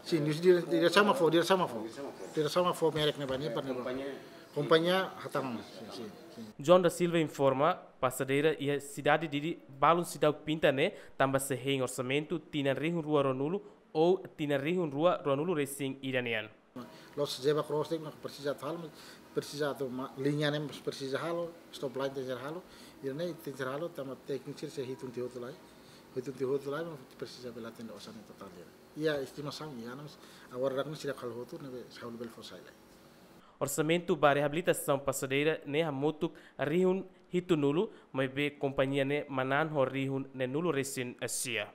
Sin, husi dire-, diresaun mak fó, diresaun mak fó. Diresaun mak fó. Diresaun mak fó merek ne'ebá, ne'e, eh, parte ne'ebá. Kompañia. Kompañia hatama. Sin, sin, sin. João da Silva informa, pasadeira iha sidade Dili balun seidauk pinta ne'e, tanba sei hein orsamentu tinan rihun rua ruanulu ou tinan rihun rua ruanulu resin ida nian. La'ós zebra cross de'it mak presiza atu halo, presiza atu ma-, liña ne'e mós presiza halo, stoplight tenke halo, ida-ne'e tenke halo, tanba tékniku sira sei hitung tiha hotu lai, hitung tiha hotu lai, mak presiza bele atende osan ne'e totál ida. Iha estimasaun, iha, mas agora dak ne'e seidauk halo hotu, ne'ebé ha'u labele fó sai lai. Orsamentu ba reabilitasaun pasadeira ne'e hamutuk rihun hitunulu, maibé kompañia ne'e manán ho rihun neenulu resin sia.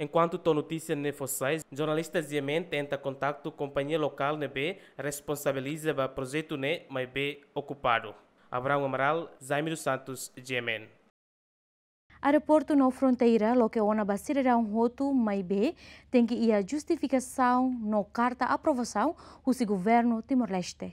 Enkuantu to'o notísia ne'e fó sai, jornalista G M N tenta kontaktu kompañia lokál ne'ebé responsabiliza ba projetu ne'e, maibé okupadu. Abraão Amaral, Jaime dos Santos, G M N. Aeroportu no fronteira loke ona ba sidadaun hotu, maibé tenke iha justifikasaun no karta aprovasaun husi governu Timor-Leste.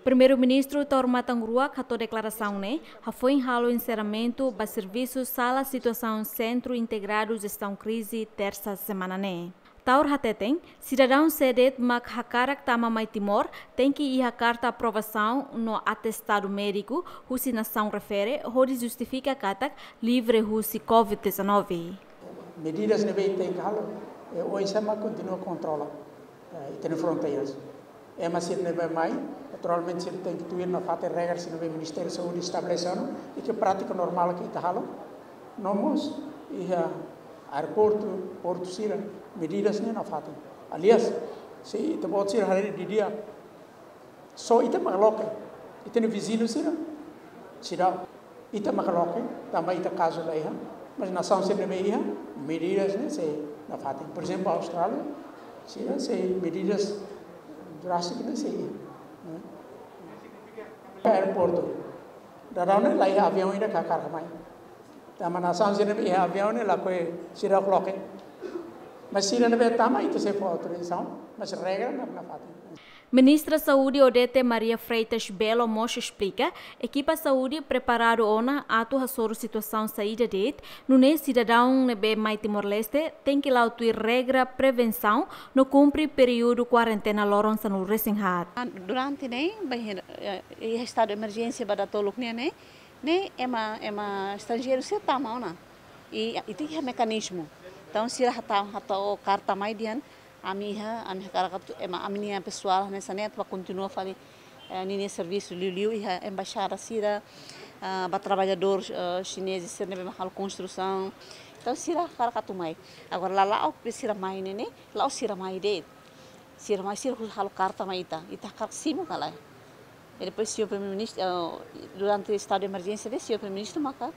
Primeiru-Ministru Taur Matan Ruak hato'o deklarasaun ne'e hafoin halo enserramentu ba servisu Sala Situasaun Sentru Integradu Jestaun Krize, tersa semana ne'e. Taur hateten, sidadaun sé de'it mak hakarak tama mai Timor tenke iha karta aprovasaun no atestadu médiku husi nasaun refere hodi justifika katak livre husi covid dezanove. Medidas ne'ebé tenke halo, eh, oinsá mak kontinua kontrola, eh, ita-nia fronteiras. Ema sira ne'ebé mai, naturalmente sira tenke tuir nafatin regra sira ne'ebé Ministériu Saúde estabelese ona, i ke prátika normál ke ita halo. No mós iha aeroportu, portu sira, medidas ne'e nafatin. Aliás, se ita-boot sira haree didi'ak, só ita mak loke, ita-nia viziñu sira seidauk. Ita mak loke, tanba ita kazu la iha, mas nasaun sira ne'ebé iha, medidas ne'e sei nafatin. Por ezemplu, Austrália, sira sei medidas drástiku ne'e sei iha, ne'e. Aeroportu. Daudaun ne'e la iha aviaun ida hakarak mai. Tanba nasaun sira ne'ebé iha aviaun ne'e lakohi seidauk loke. Mas sira ne'ebé tama ita sei fó autorizasaun, mas regra ne'e nafatin. Ministra Saúde Odete Maria Freitas Belo mós esplika, ekipa saúde preparadu ona atu hasoru situasaun saida de'it, nune'e sidadaun ne'ebé mai Timor-Leste tenke la'o tuir regra prevensaun no kumpre períodu kuarentena loron sanulu resin haat. Durante ne'e, bainhira, eh, iha estadu emerjénsia ba datoluk nian ne'e, ne'e ema, ema estranjeiru sira tama ona. I, i tenke iha mekanizmu. Entaun, sira hato'o, hato'o karta mai dehan, ami iha, ami hakarak atu, ema, ami-nia pesoál hanesan ne'e atu bá kontinua fali, eh, ninia servisu liuliu iha embaixada sira, ah, ba traballadór, eh, xinezes sira ne'ebé mak halo konstrusaun. Entaun, sira hakarak atu mai. Agora, la la'o be sira mai ne'e ne'e, la'o sira mai de'it. Sira mai, sira halo karta mai ita, ita hakarak simu ka lae. E depois, señór Primeiru-Ministru, eh, durante estadu de emerjénsia de'it, señór Primeiru-Ministru maka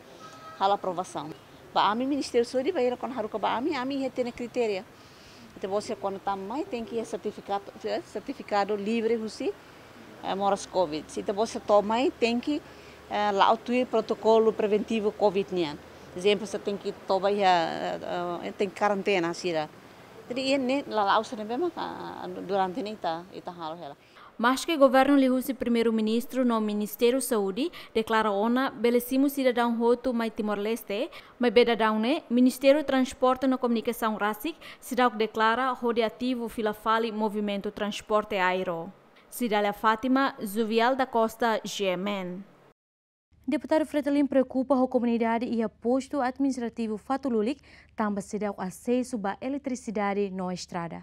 halo aprovasaun. Ba ami, Ministériu Saúde, bainhira kuandu haruka ba ami, ami iha ita-nia kritéria. Ita-boot sira kuandu tama mai, tenke iha sertifikadu, eh, sertifikadu livre husi, eh, moras covid. Se ita-boot sira to'o mai, tenke, eh, la'o tuir protokolu preventivu covid nian. Ezemplu, sira tenke toba iha, eh, eh, tenke karentena sira. Jadi, iha ne'e lala'ok sira ne'ebé maka, ah, durante ne'e ita, ita halo hela. Maske governu liuhusi Primeiru-Ministru no Ministériu Saúde deklara ona bele simu sidadaun hotu mai Timor-Leste, maibé daudaun ne'e Ministériu Transporte no Komunikasaun rasik seidauk deklara hodi ativu fila fali movimentu transporte aéreu. Cidália Fátima, Juvial da Costa, G M N. Deputadu Fretilin preokupa ho komunidade iha postu administrativu Fatululik, tanba seidauk asesu ba eletrisidade no estrada.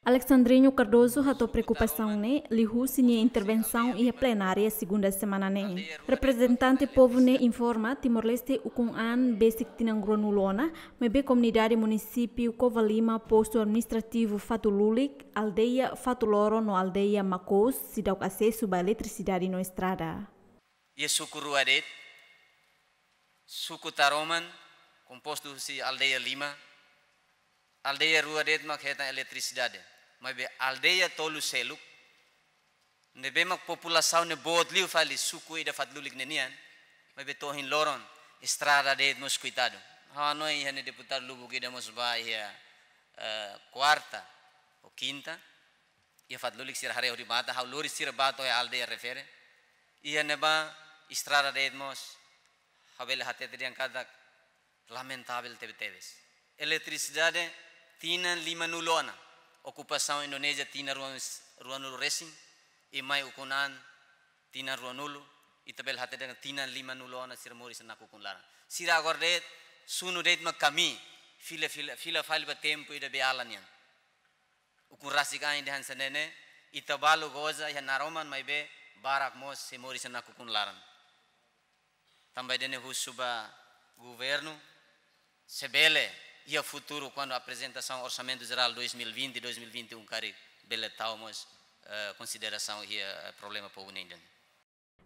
Alexandrinho Cardoso hato'o preokupasaun ne'e liuhusi nia intervensaun iha plenária segunda semana ne'e. Reprezentante povu ne'e informa Timor-Leste ukun an besik tinan ruanulu ona, maibé komunidade munisípiu Covalima, postu administrativu Fatululik, aldeia Fatuloro no aldeia Makoos seidauk asesu ba eletrisidade no estrada. Iha suku rua de'it, suku Taroman, kompostu husi aldeia lima, aldeia rua de'it mak hetan eletrisidade. Maibé aldeia tolu seluk, ne'ebé mak populasaun ne'e boot liu fali suku ida Fatululik ne'e nian, maibé to'o ohin loron estrada de'it mós koitadu. Ha'u hanoin iha ne'e deputadu lubuk ida mós bá iha, eh, kuarta ou kinta, iha Fatululik sira haree hodi matan, ha'u lori sira bá to'o iha aldeia refere. Iha ne'ebá estrada de'it mós, ha'u bele hatete dehan katak lamentavel tebetebes. Eletrisidade tinan limanulu ona, okupasaun Indonézia tinan ruan, ruanulu resin, i mai ukun an tinan ruanulu, ita bele hatete dehan tinan limanulu ona sira moris nakukun laran. Sira agora de'it, sunu de'it mak kamii, fila, fila, fila fali ba tempu ida beiala nian. Ukun rasik ain dehan hanesan ne'e, ita balu goza iha Naroman maibé barak mós sei moris nakukun laran. Tanba ida-ne'e husu ba governu, se bele iha futuru kuandu aprezentasaun Orsamentu Jerál dois mil e vinte, dois mil e vinte e um karik bele tau mós, eh, konsiderasaun iha, eh, problema povu nian.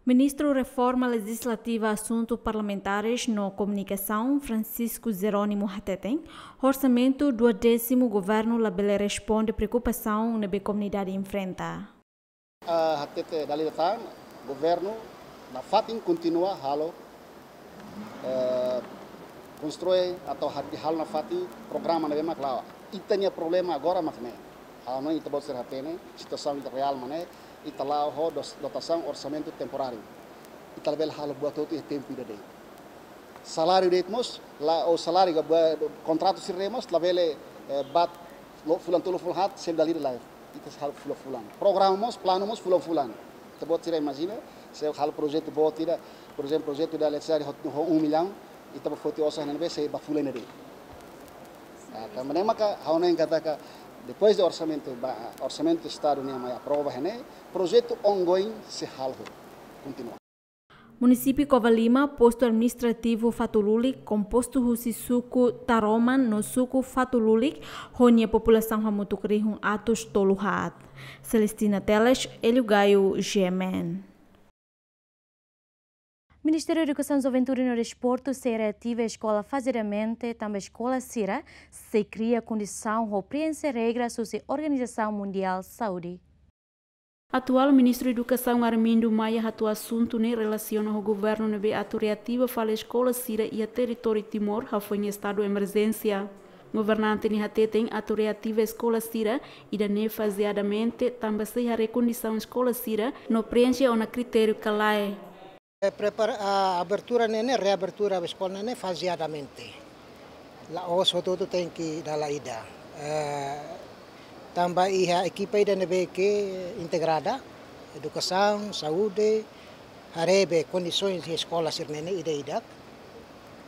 Ministru Reforma Lejizlativa, Asuntu Parlamentares no Komunikasaun, Francisco Jerónimo hateten, orsamentu duodésimu governu labele responde preokupasaun ne'ebé komunidade enfrenta. Ah, hatete dala ida tan, governu nafatin kontinua halo, eh, konstrui atau hadi halo nafatin programa ne'ebé mak la'o. Ita-nia problema agora mak ne'e. Ha'u hanoin ita-boot sira hatene, situasaun ita reál mak ne'e, ita la'o ho dos-, dotasaun orsamentu temporáriu. Ita labele halo buat hotu iha tempu ida de'it. Saláriu de'it mós, la, ou saláriu ka ba, kontratu sira de'it mós, labele, eh, bá lo fulan tolu fulan haat, selu dala ida lae. Ita halo fulan-fulan. Programa mós, planu mós fulan-fulan. Ita-boot sira imajina, se halo projetu boot ida, por ezemplu, projetu da eletrisidade ho, ho um milhão, ita bá foti osan ne'ebé sei ba fulan ida de'it. Ah, tanba ne'e maka, ha'u hanoin katak, depois de orsamentu, ba, orsamentu estadu nian mai aprova iha ne'e, projetu ongoing sei halo, kontinua. Munisípiu Covalima, postu administrativu Fatululik, kompostu husi suku Taroman no suku Fatululik, ho nia populasaun hamutuk rihun atus tolu haat. Celestina Teles, Hélio Gaio, G M N. Ministériu Edukasaun, Juventude no Desportu sei reativa eskola fazeadamente, tanba eskola sira sei kria kondisaun ho preenxe regras husi Organizasaun Mundiál Saúde. Atuál Ministru Edukasaun Armindo Maia hato'o asuntu ne'e relasiona ho governu ne'ebé atu reativa fali eskola sira iha territóriu Timor hafoin estadu emerjénsia. Governante ne'e hateten atu reativa eskola sira ida-ne'e fazeadamente, tanba sei haree kondisaun eskola sira no preenxe ona kritériu ka lae. Eh, prepara, ah, abertura ne'e ne'e, reabertura eskola ne'e ne'e fazeadamente. La'ós hotu-hotu tenke dala ida. Eh, tanba iha ekipa ida ne'ebé ke integrada, edukasaun, saúde, haree be kondisoens iha eskola sira-ne'e ne'e ida-idak.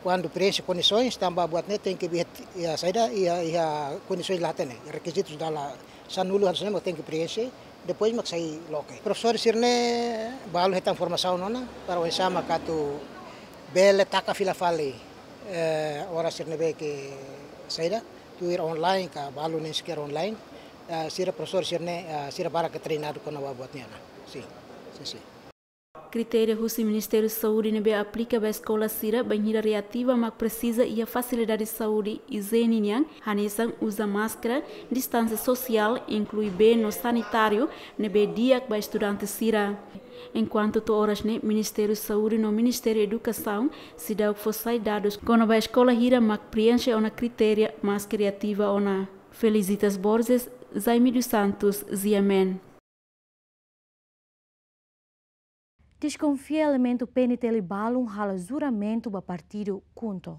Kuandu preenxe kondisoens, tanba buat ne'e tenke iha, iha saida, iha, iha kondisoens la hatene, rekizitus dala sanulu hanesan ne'e mak tenke preenxe, depois mak sai loke. Profesór sira-ne'e balu hetan formasaun ona, para oinsá mak atu bele taka fila fali, eh, oras sira ne'ebé ke saida, tuir online ka balu nem sequer online, eh, sira profesór sira-ne'e, eh, sira barak ke treinadu kona-ba buat ne'e ona. Sin, sin, sin. Kritéria husi Ministériu Saúde ne'ebé aplika ba eskola sira bainhira reativa mak presiza iha fasilidade saúde ijiene nian, hanesan uza máskara, distánsia sosiál, inklui bee no sanitáriu ne'ebé di'ak ba estudante sira. Enkuantu to'o oras ne'e, Ministériu Saúde no Ministériu Edukasaun seidauk fó sai dadus kona-ba eskola hira mak preenxe ona kritéria maske reativa ona. Felicitas Borges, Jaime dos Santos, G M N. Deskonfia elementu P N T L balun halo juramentu ba partidu KHUNTO.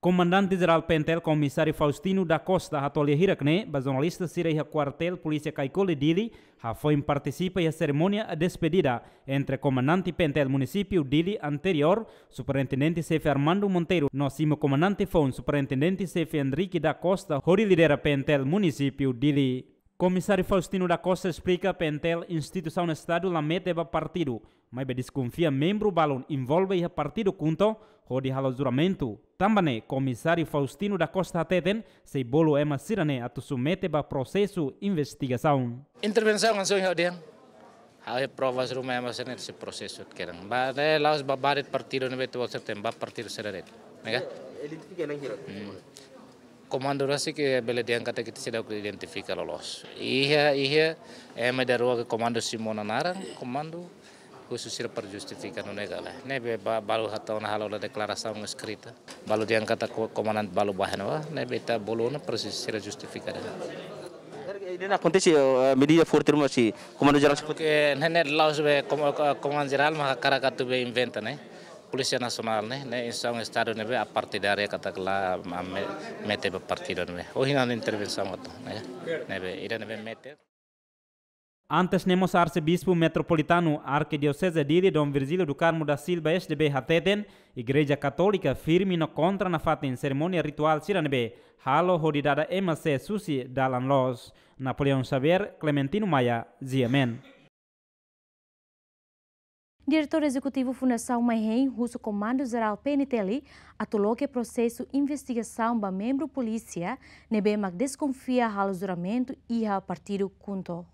Komandante Jerál P N T L Komisáriu Faustino da Costa hato'o lia hirak-ne'e ba jornalista sira iha Kuartél Polísia Caicoli, Dili, hafoin partisipa iha serimónia despedida entre Komandante P N T L Munisípiu Dili anteriór, Superintendente Xefe Armando Monteiro, no simu Komandante foun Superintendente Xefe Henrique da Costa, hodi lidera P N T L Munisípiu Dili. Komisáriu Faustino da Costa esplika P N T L instituisaun Estadu la mete ba partidu, maibé deskonfia membru balun envolve iha partidu KHUNTO hodi halo juramentu. Tanba ne'e, Komisáriu Faustino da Costa hateten, sei bolu ema sira-ne'e atu submete ba prosesu investigasaun. Intervensaun hanesan ohin ha'u dehan, ha'u iha provas ruma ema sira-ne'e sei prosesu kedan. Ba, ne'e la'ós ba barit partidu ne'ebé atu, ba partidu sira de'it. Ne'e ka? Identifika na'in hira. Hmm. Komandu rasik ke bele dehan katak ita seidauk identifika loloos. Iha, iha, ema ida rua ke komandu simu ona naran, komandu husu sira para justifika nune'e ka lae. Ne'ebé ba, balu hatama ona halo ona deklarasaun eskrita. Balu dehan katak ko-, komandante balu ba iha ne'ebá, ne'ebé ita bolu ona para sira justifika de'it. Ida-ne'e akontese, eh, medida forte ruma husi Komandu Jerál. Ke ne'e, ne'e la'ós be kom-, ko-, Komandu Jerál mak hakarak atu be inventa ne'e. Polísia Nasionál ne'e, ne'e instituisaun Estadu ne'ebé apartidária katak la ma-, me-, mete ba partidu ne'ebé. Ohin ha'u-nia intervensaun atu, ne'e. Ne'ebé, ida ne'ebé mete. Antes ne'e mós Arsebispu Metropolitanu Arkidioseze Dili, Dom Virgílio do Carmo da Silva, S D B, hateten, Igreja Katólika firme no kontra nafatin serimónia rituál sira ne'ebé halo hodi dada ema sé susi dalan loos. Napoleão Xavier, Clementino Maia, G M N. Diretór Ezekutivu Fundasaun Maihein husu Komandu Jerál P N T L atu loke prosesu investigasaun ba membru polísia ne'ebé mak deskonfia halo juramentu iha partidu KHUNTO.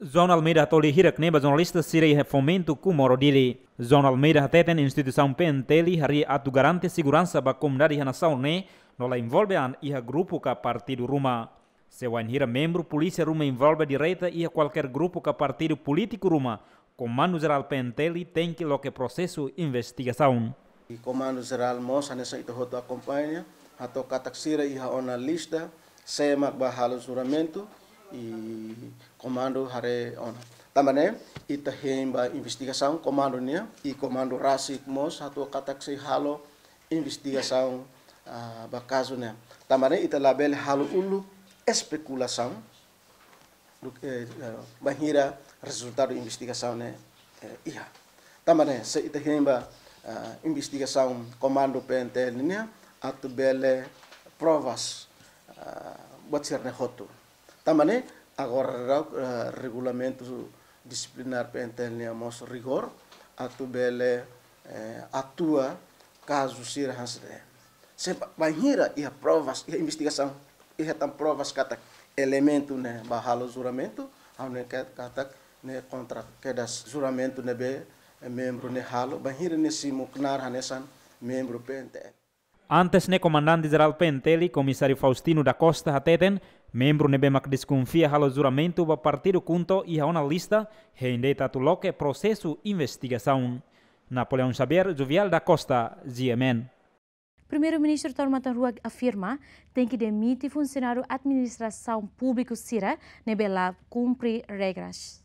João Almeida hato'o lia hirak-ne'e ba jornalista sira iha Fomento Comoro Dili. João Almeida hateten instituisaun P N T L harii atu garante seguransa ba komunidade iha nasaun ne'e no la envolve an iha grupu ka partidu ruma. Se wainhira membru polísia ruma envolve direta iha kualkér grupu ka partidu polítiku ruma, Komandu Jerál P N T L tenke loke prosesu investigasaun. I Komandu Jerál mós hanesan ita hotu akompaña, hato'o katak sira iha ona lista, sé mak bá halo juramentu, i komandu haree ona. Tanba ne'e, ita hein ba investigasaun komandu nian, i komandu rasik mós hato'o katak sei halo investigasaun, ah, ba kazu ne'e. Tanba ne'e ita labele halo uluk espekulasaun, duk, eh, eh, bainhira rezultadu investigasaun ne'e, eh, iha. Tanba ne'e, se ita hein ba, ah, investigasaun komandu P N T L nian, atu bele provas, ah, buat sira-ne'e hotu. Tanba ne'e, agora daudaun, eh, regulamentu disiplinár P N T L nian mós rigór, atu bele, eh, atua kazu sira hanesan ne'e. Se ba-, bainhira iha provas, iha investigasaun, iha tan provas katak elementu ne'e bá halo juramentu, ha'u hanoin ka-, katak ne'e kontra kedas juramentu ne'ebé, eh, membru ne'e halo, bainhira nia simu knaar hanesan membru P N T L. Antes ne'e Komandante Jerál P N T L, Komisáriu Faustino da Costa hateten, membru ne'ebé mak deskonfia halo juramentu ba partidu KHUNTO iha ona lista, hein de'it atu loke prosesu investigasaun. Napoleão Xavier, Juvial da Costa, G M N. Primeiru-Ministru Taur Matan Ruak afirma, tenke demite funsionáriu administrasaun públiku sira ne'ebé la kumpre regras.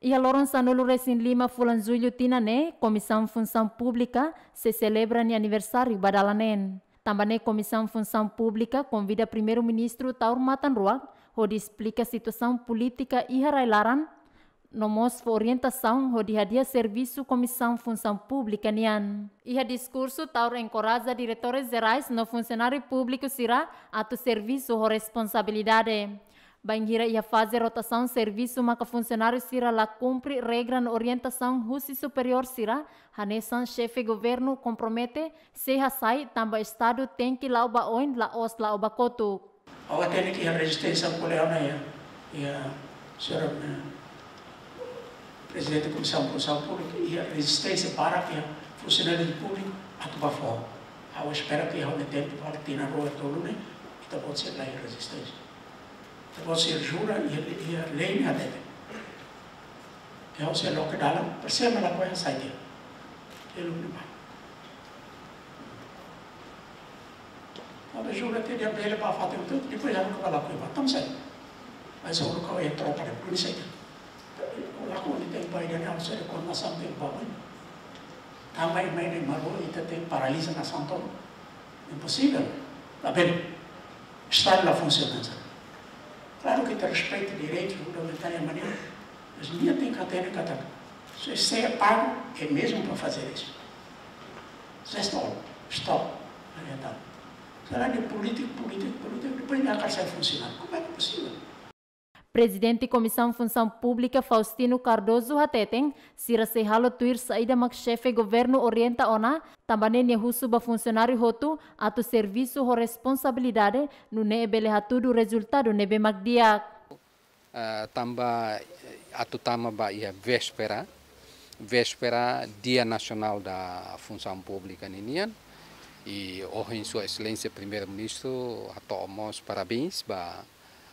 Iha loron sanulu-resin-lima fulan Jullu tinan ne'e, Komisaun Funsaun Públika sei selebra nia aniversáriu ba dala neen. Tanba ne'e Komisaun Funsaun Públika konvida Primeiru-Ministru Taur Matan Ruak hodi esplika situasaun polítika iha rai-laran, no mós fó orientasaun hodi hadi'a servisu Komisaun Funsaun Públika nian. Iha diskursu Taur enkoraja diretores jerais no funsionáriu públiku sira atu servisu ho responsabilidade. Bainhira iha faze rotasaun servisu maka funsionáriu sira la kumpre regra no orientasaun husi superiór sira, hanesan xefe governu kompromete sei hasai tanba Estadu tenke la'o ba oin, la'ós la'o ba kotuk. Ha'u hatene ke iha rezisténsia ko'alia ona iha, iha señora, eh, Prezidente Komisaun Funsaun Públika, iha rezisténsia barak iha funsionáriu públiku atu bá fó. Ha'u espera ke iha tempu, para tinan rua tolu ne'e, ita-boot sei la iha rezisténsia. Ita-boot sei jura iha, iha lei ne'e hatete. Ha'u sei loke dalan, percebe la koe hasai tiha. Ita-boot ne'e ba. Ita-boot jura tiha dehan bele bá fatin hotu, depois ita-boot ka la koe bá. Tanba sá? Mas ita-boot ka iha tropa de polísia. La koe ita-boot ba ida-ne'e, ha'u sei rekomendasaun ita-boot ba. Tanba ema ne'e malu, ita tenke paraliza nasaun tomak. Imposivel. Labele. Estadu la funsiona. Klaru ke ita respeita direitus fundamentál, mas nia tenke hatene katak se, se é pago, é mesmo para fazer isso. That's all. Stop. Será de polítiku, polítiku, polítiku, depois nia hakarak sai funsionáriu. Como é que é possível? Prezidente Komisaun Funsaun Públika Faustino Cardoso hateten, sira sei halo tuir saida mak xefe governu orienta ona, tanba ne'e nia husu ba funsionáriu hotu atu servisu ho responsabilidade, nune'e bele hatudu rezultadu ne'ebé mak di'ak. Ah, tanba, eh, atu tama ba iha véspera, véspera Dia Nasionál da Funsaun Públika ninian, i ohin Sua Exelénsia Primeiru-Ministru hato'o mós parabéns ba,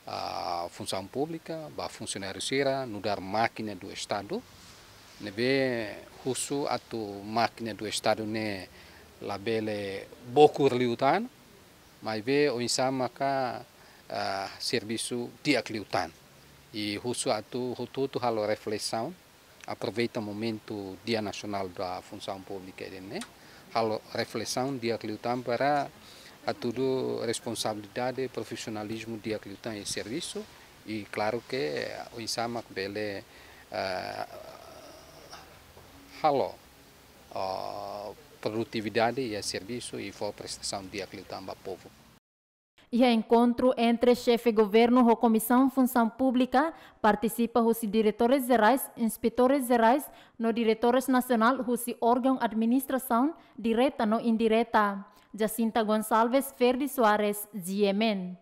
ah, funsaun públika, ba funsionáriu sira, nu'udar mákina do Estadu, ne'ebé husu atu mákina do Estadu ne'e labele bokur liután, maibé oinsá maka, ah, servisu di'ak liután. I husu atu hotu-hotu halo reflesaun, aproveita momentu Dia Nasionál da Funsaun Públika ida-ne'e, halo reflesaun di'ak liután para hatudu responsabilidade, profisionalizmu di'ak liután iha servisu, i klaru ke oinsá mak bele, ah, halo, ah, produtividade iha servisu i fó prestasaun di'ak liután ba povu. Iha enkontru entre xefe governu ho Komisaun Funsaun Públika, partisipa husi diretores jerais, inspetores jerais, no diretores nasionál husi órgaun administrasaun direta no indireta. Jacinta Gonçalves, Ferdi Soares, G M N.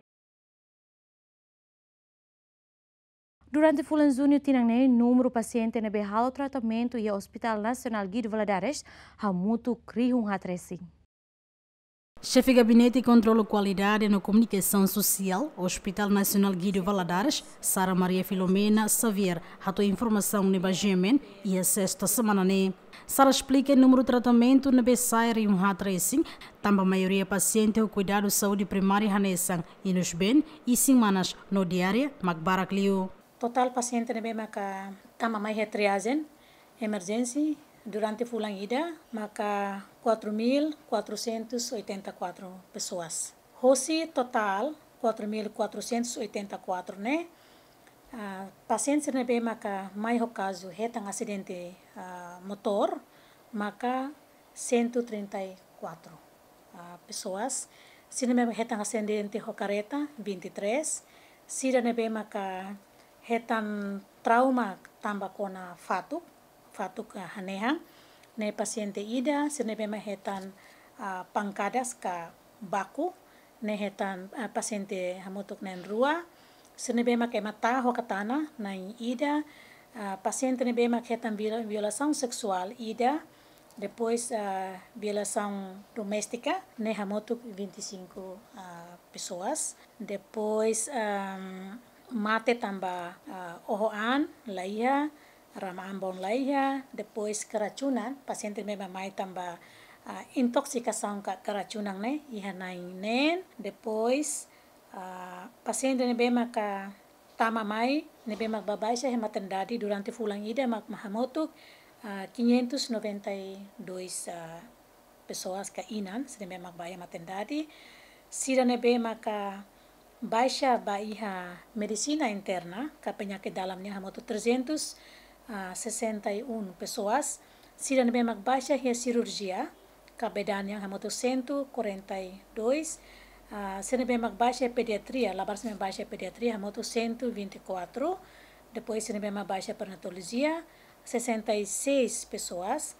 Durante fulan Juñu tinan ne'e, númeru pasiente ne'ebé halo tratamentu iha Hospital Nasionál Guido Valadares hamutuk rihun haat resin. Xefe Gabinete Kontrolu Kualidade no Komunikasaun Sosiál Hospital Nasionál Guido Valadares, Sara Maria Filomena Xavier, hato'o informasaun ne'e ba G M N iha Sesta semana ne'e. Sara esplika númeru tratamentu ne'ebé sa'e rihun haat resin, tanba maioria pasiente ho kuidadu saúde primária hanesan inusben, isin-manas no diarreia mak barak liu. Totál pasiente ne'ebé maka tama mai iha triagem emerjénsia durante fulan ida maka quatro mil quatrocentos e oitenta e quatro pessoas. Hosi totál quatro mil quatrocentos e oitenta e quatro ne'e, ah, pasiente sira ne'ebé maka mai ho kazu hetan asidente, ah, motór maka cento e trinta e quatro, ah, pessoas. Sira ne'ebé hetan asidente ho karreta, vinte e três. Sira ne'ebé maka hetan trauma tanba kona fatuk, fatuk, ah, hanehan, ne'e pasiente ida. Sira ne'ebé mak hetan, ah, pankadas ka baku, ne'e hetan, ah, pasiente hamutuk na'in-rua. Sira ne'ebé mak ema ta'a ho katana, na'in-ida. Ah, pasiente ne'ebé mak hetan viola-, violasaun seksuál, ida. Depois, ah, violasaun doméstika, ne'e hamutuk vinte e cinco, ah, pessoas. Depois, ah, mate tanba, ah, oho an, laiha, rama ambon laiha, depois keracunan, pasiente ne'ebé mak mai tanba, ah, intoksikasaun ka keracunan ne'e, iha na'in-neen, depois, ah, pasiente ne'ebé maka tama mai, ne'ebé mak bá baixa iha maternidade durante fulan ida mak, mak hamutuk, ah, quinhentos e noventa e dois, ah, pessoas ka inan, sira ne'ebé mak bá iha maternidade. Sira ne'ebé maka baixa bá iha medisina interna, ka penyakit dalam nian hamutuk trezentos ah, sessenta e um pessoas. Sira ne'ebé mak baixa iha sirurjia, ka bee daan nian hamutuk cento e quarenta e dois. Ah, sira ne'ebé mak baixa iha pediatria, labarik sira ne'ebé baixa iha pediatria hamutuk cento e vinte e quatro. Depois sira ne'ebé mak baixa iha perinatolojia, sessenta e seis pessoas.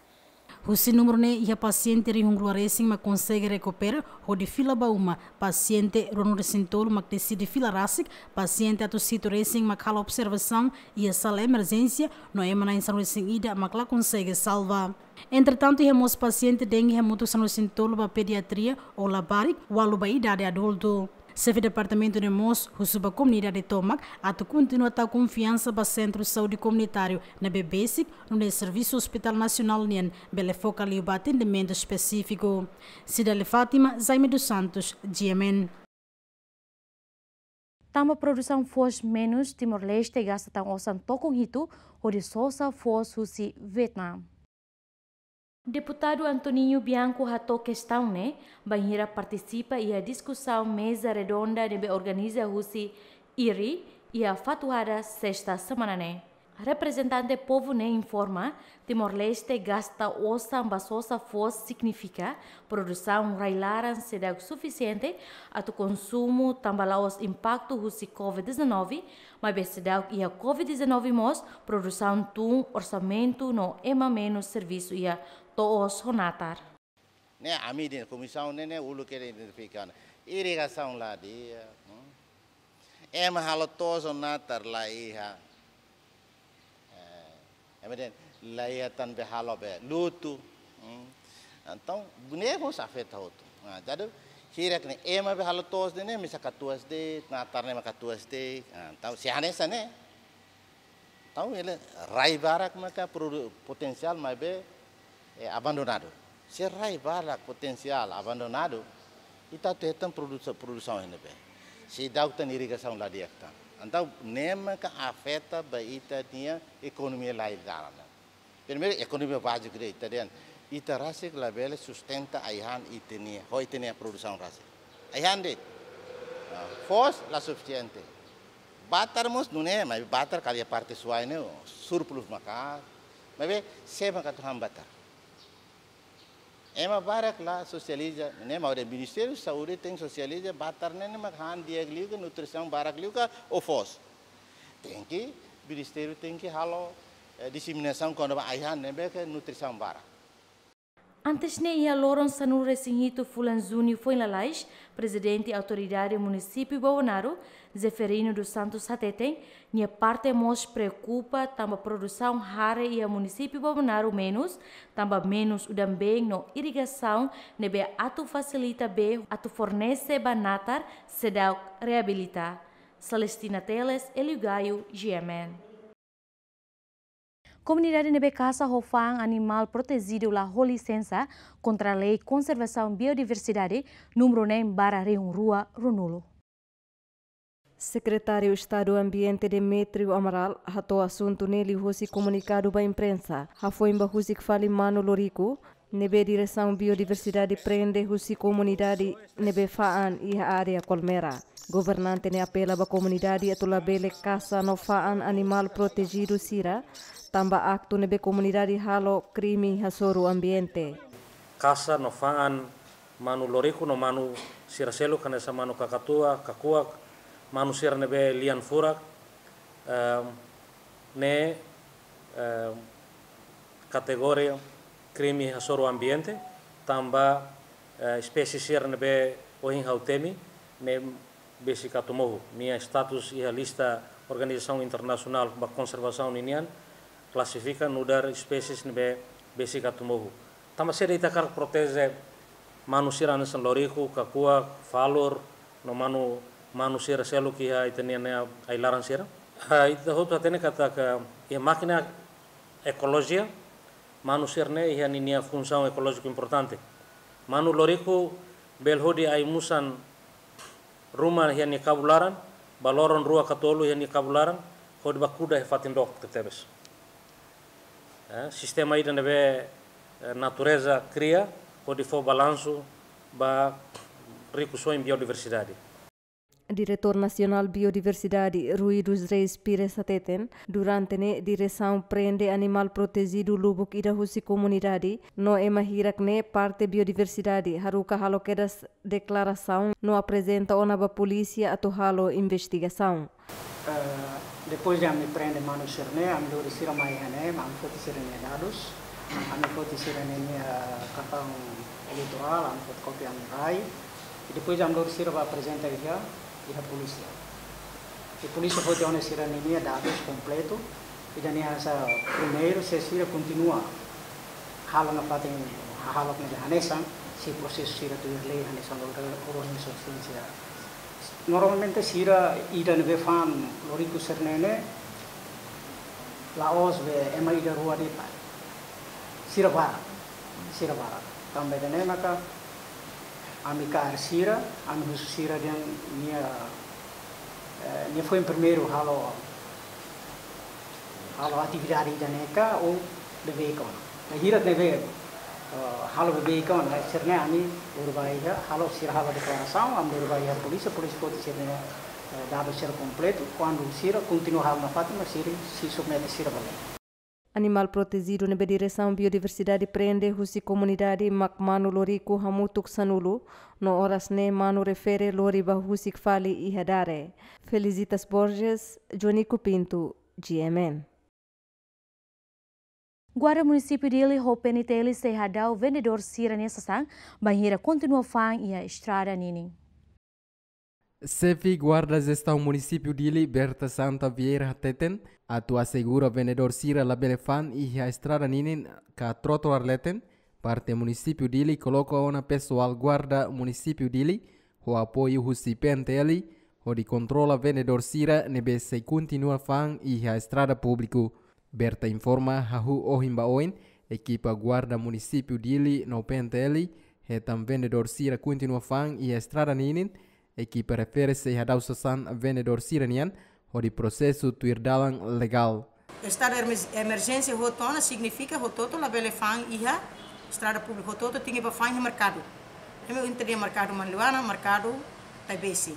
Husi númeru ne'e iha pasiente rihun rua resin mak konsege rekupera hodi fila ba uma, pasiente ruanulu resin tolu mak deside fila rasik, pasiente atus hitu resin mak halo observasaun iha sala emerjénsia, no ema na'in sanulu resin ida mak la konsege salva. Entretantu, iha mós pasiente dengue hamutuk sanulu resin tolu ba pediatria ou labarik, ualu ba idade adultu. Xefe departamentu ne'e mós husu ba komunidade tomak atu kontinua tau konfiansa ba sentru saúde komunitáriu ne'ebé besik, nune'e servisu Hospital Nasionál nian bele foka liu ba atendimentu espesífiku. Cidalia Fátima, Jaime dos Santos, G M N. Tanba produsaun foos menus, Timor-Leste gasta tan osan tokon hitu hodi sosa foos husi Vietnam. Deputadu Antoninho Bianco hato'o kestaun ne'e bainhira partisipa iha diskusaun meza redonda ne'ebé organiza husi IRI iha Fatuhada, sesta semana ne'e. Reprezentante povu ne'e informa, Timor-Leste gasta osan ba sosa foos signifika produsaun rai-laran seidauk sufisiente atu konsumu tanba la'ós impaktu husi covid dezanove, maibé seidauk iha covid dezanove mós produsaun tun orsamentu no ema menus servisu iha to'os ho natar. Ne'e ami dehan komisaun ne'e, ne'e uluk ke identifika ona. Irrigasaun la di'ak, hmm? Ema halo to'os ho natar la iha. Eh, ema dehan la iha tan be halo be lutu. Hmm? Entaun, ne'e mós afeta hotu. Nah, jadi, hirak ne'e ema be halo to'os ne'e, ne'e misa katuas de'it, natar ne'e mak katuas de'it. Nah, entaun, se hanesan ne'e. Entaun, ne'e rai barak maka produ-, potensiál maibé, eh, abandonadu. Se rai barak potensiál abandonadu, ita atu hetan produsa-, produsaun iha ne'ebé? Seidauk tan irrigasaun la di'ak tan. Entaun, ne'e maka afeta ba ita-nia ekonomia rai-laran. Primeiru, ekonomia báziku de'it, ita dehan, ita rasik labele sustenta ai-han ita-nia, ho ita-nia produsaun rasik. Ai-han de'it. Ah, foos la sufisiente. Batar mós nune'e, maibé batar kala iha parte Suai ne'e, surplus maka'as. Maibé, sé maka atu han batar? Ema barak la sosializa, ne'e mak Ministériu Saúde tenke sosializa, batar ne'e, ne'e mak han di'ak liu ka, nutrisaun barak liu ka, ou foos. Tenke, ministériu tenke halo, eh, diseminasaun kona-ba ai-han ne'ebé ke nutrisaun barak. Antes ne'e iha loron sanulu resin hitu fulan Júniu foin lalais, Prezidente Autoridade Munisípiu Bobonaro, Zeferino dos Santos hateten, nia parte mós preokupa tanba produsaun hare iha Munisípiu Bobonaro menus, tanba menus udan-been no irrigasaun ne'ebé atu fasilita bee atu fornese ba natar seidauk reabilita. Celestina Teles, Elio Gaio, G M N. Komunidade ne'ebé kasa ho fa'an animál protejidu la ho lisensa kontra Lei Konservasaun Biodiversidade númeru neen barra rihun rua ruanulu. Sekretáriu Estadu Ambiente Demetrio Amaral hato'o asuntu ne'e liuhusi komunikadu ba imprensa, hafoin ba husik fali manu loriku, ne'ebé Diresaun Biodiversidade prende husi komunidade ne'ebé fa'an iha área Kolmera. Governante ne'e apela ba komunidade atu labele kasa no fa'an animál protejidu sira, tanba aktu ne'ebé komunidade halo krime hasoru ambiente. Kasa no fa'an manu loriku no manu sira seluk hanesan manu kakatua, kakuak, manu sira ne'ebé lian furak, ehm, ne'e, ehm, kategoria krime hasoru ambiente, tanba, eh, espésie sira ne'ebé ohin ha'u temi, ne'e besik atu mohu. Nia status iha lista organizasaun internasionál ba konservasaun ninian, klasifika nu'udar espésie ne'ebé besik atu mohu. Tanba saida ita hakarak proteje manu sira hanesan loriku, kakuak, falur, no manu, manu sira seluk iha ita-nia ne'e ai-laran sira? Ah, ita hotu hatene katak iha mákina ekolojia, manu sira ne'e iha ninia funsaun ekolójiku importante. Manu loriku bele hodi ai-musan ruma iha nia kabun laran, ba loron rua ka tolu iha nia kabun laran, hodi ba kuda iha fatin dook tebetebes. Eh, sistema ida ne'ebé, eh, natureza kria, hodi fó balansu ba rikusoin biodiversidade. Diretór Nasionál Biodiversidade, Rui dos Reis Pires hateten, durante ne'e diresaun prende animál protejidu lubuk ida husi komunidade, no ema hirak ne'e parte biodiversidade, haruka halo kedas deklarasaun no aprezenta ona ba polísia atu halo investigasaun. Eh, depois de ami prende manu sira-ne'e, ami lori sira mai iha ne'e, ami foti sira-nia dadus, ami foti sira-nia, eh, kartaun eleitorál, ami foti kópia ami rai. I depois ami lori sira ba aprezenta iha, iha polísia. I polísia foti ona sira-nia dadus kompletu, i dani asa primeiru, se sira kontinua halo nafatin hahalok ne'e hanesan, se prosesu sira tuir lei hanesan lei, lei, lei, lei, lei, lei, Normalmente sira ida ne'ebé fa'an loriku sira-ne'e ne'e la'ós be ema ida rua de'it. Sira barak, sira barak. Tanba ida-ne'e maka ami kaer sira, ami husu sira dehan nia, eh, nia foin primeiru halo halo atividade ida-ne'e ka ou beibeik ona. Nia hirak ne'ebé, eh, halo beibeik ona, sira-ne'e ami lori ba iha, halo sira halo deklarasaun, ami lori ba iha polísia, polísia foti sira-nia, eh, dadus sira kompletu, kuandu sira kontinua halo nafatin, mak sira sei submete sira ba lei. Animál protejidu ne'ebé diresaun biodiversidade prende husi komunidade mak manu loriku hamutuk sanulu, no oras ne'e manu refere lori ba husik fali iha Dare. Felicitas Borges, Jonico Pinto, G M N. Guarda Munisípiu Dili ho P N T L sei hadau vendedór sira-nia sasán, bainhira kontinua fa'an iha estrada ninin. Xefe Guarda Jestaun Munisípiu Dili, Berta Santa Vieira hateten, atu asegura vendedór sira labele fa'an iha estrada ninin ka trotoar leten, parte Munisípiu Dili koloka ona pesoál Guarda Munisípiu Dili, ho apoiu husi P N T L, hodi kontrola vendedór sira ne'ebé sei kontinua fa'an iha estrada públiku. Berta informa, hahú ohin ba oin, ekipa Guarda Munisípiu Dili no P N T L hetan vendedór sira kontinua fa'an iha estrada ninin, ekipa refere sei hadau sasán vendedór sira-nian, hodi prosesu tuir dalan legál. Estadu emer-, emerjénsia hotu ona signifika hotu-hotu labele fa'an iha estrada públiku, hotu-hotu tenke ba fa'an iha merkadu. Ema ita dehan merkadu Manleuana, merkadu Taibesi.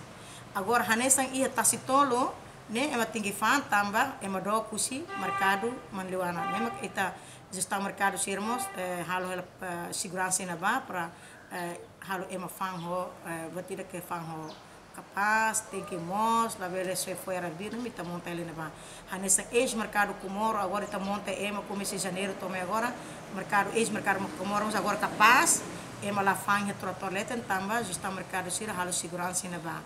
Agora hanesan iha Tasitolu ne'e ema tenke fa'an tanba ema dook husi merkadu Manleuana. Ne'e mak ita jestaun merkadu sira mós, eh, halo hela, eh, seguransa iha ne'ebá para, eh, halo ema fa'an ho, eh, buat ida ke fa'an ho kapás, tenke moos, labele soe fo'er arbiru, ita monta hela iha ne'ebá. Hanesan eis merkadu Comoro, agora ita monta ema komesa Janeiru to'o mai agora, merkadu, eis merkadu Comoro, mas agora kapás, ema la fa'an iha trotoar leten tanba jestaun merkadu sira halo seguransa iha ne'ebá.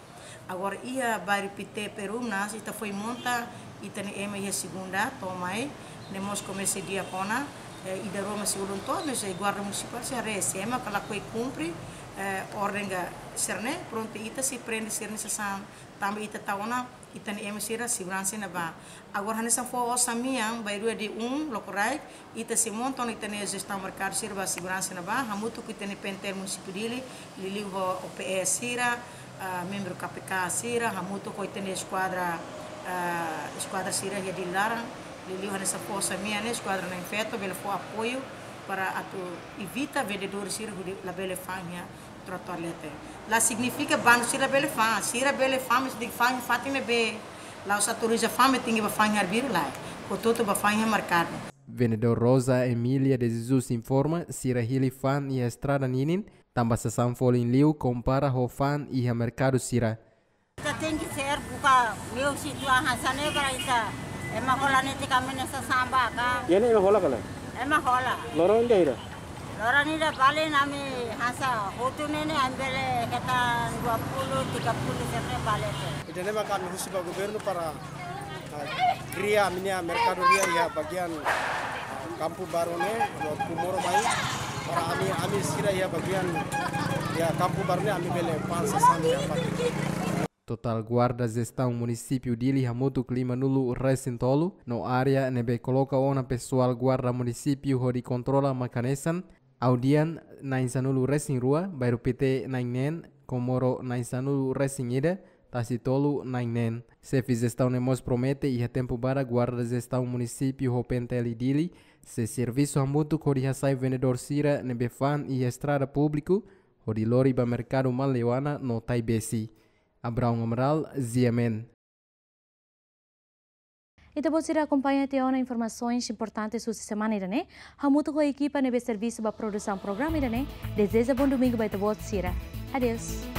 Agora iha bairru Pité Perumnas, ita foin monta ita-nia ema iha segunda to'o mai, ne'e mós komesa di'ak ona, eh, ida rua mak sei ulun to'o, mas, eh, guarda munisipál sei haree, se ema ka lakohi kumpre, eh, orden ka sira-ne'e, prontu ita sei prende sira-nia sasán, tanba ita tau ona ita-nia ema sira seguransa iha ne'ebá. Agora hanesan foho osan mean, bainrua dia um, lokraik, ita sei monta ona ita-nia jestaun merkadu sira ba seguransa iha ne'ebá, hamutuk ho ita-nia P N T L Munisípiu Dili, liuliu ho O P S sira, ah, membru K P K sira, hamutuk ho ita-nia eskuadra, ah, eskuadra sira iha Dili laran, liuliu hanesan foho osan mean ne'e, eskuadra na'in-feto, bele fó apoiu para atu evita vendedór sira hodi labele fa'an iha trotoar leten. La signifika bandu sira bele fa'an, sira bele fa'an, mas tenke fa'an iha fatin ne'ebé. La'ós autoriza fa'an, mas tenke ba fa'an iha arbiru, lae. Hotu-hotu ba fa'an iha merkadu. Vendedór Rosa Emília de Jesus informa, sira hili fa'an iha estrada ninin, tanba sasán folin liu kompara ho fa'an iha merkadu sira. Ita tenke ser buka meiu situasaun hanesan ne'e para ita ema hola netik ami-nia sasán ba ka. Iha ne'e ema hola ka lae? Ema hola. Loron ida hira? Loron ida bali ne'e ami hanesan hotu ne'e ne'e ami bele hetan dua puluh, tiga puluh sira-ne'e bali te. Ida-ne'e maka ami husu ba governu para, ah, kria ami-nia merkadu nia iha bagian, ah, Kampu Baru ne'e, buat Comoro mai, para ami, ami sira iha bagian, iha Kampu Baru ne'e ami bele fa'an sasán iha fatin. Totál guarda jestaun Munisípiu Dili hamutuk lima-nulu resin tolu, no área ne'ebé koloka ona pesoál guarda munisípiu hodi kontrola mak hanesan, Audian na'in-sanulu resin rua, Bairru Pité na'in-neen, Comoro na'in-sanulu resin ida, Tasitolu na'in-neen. Xefe jestaun ne'e mós promete iha tempu badak guarda jestaun munisípiu ho P N T L Dili sei servisu hamutuk hodi hasai vendedór sira ne'ebé fa'an iha estrada públiku, hodi lori ba merkadu Manleuana no Taibesi. Abraão Amaral, G M N. Ita-boot sira akompaña tiha ona informasaun importante husi semana ida-ne'e, hamutuk ho ekipa ne'ebé servisu ba produsaun programa ida-ne'e, dezeja bom domingu ba ita-boot sira. Adeus.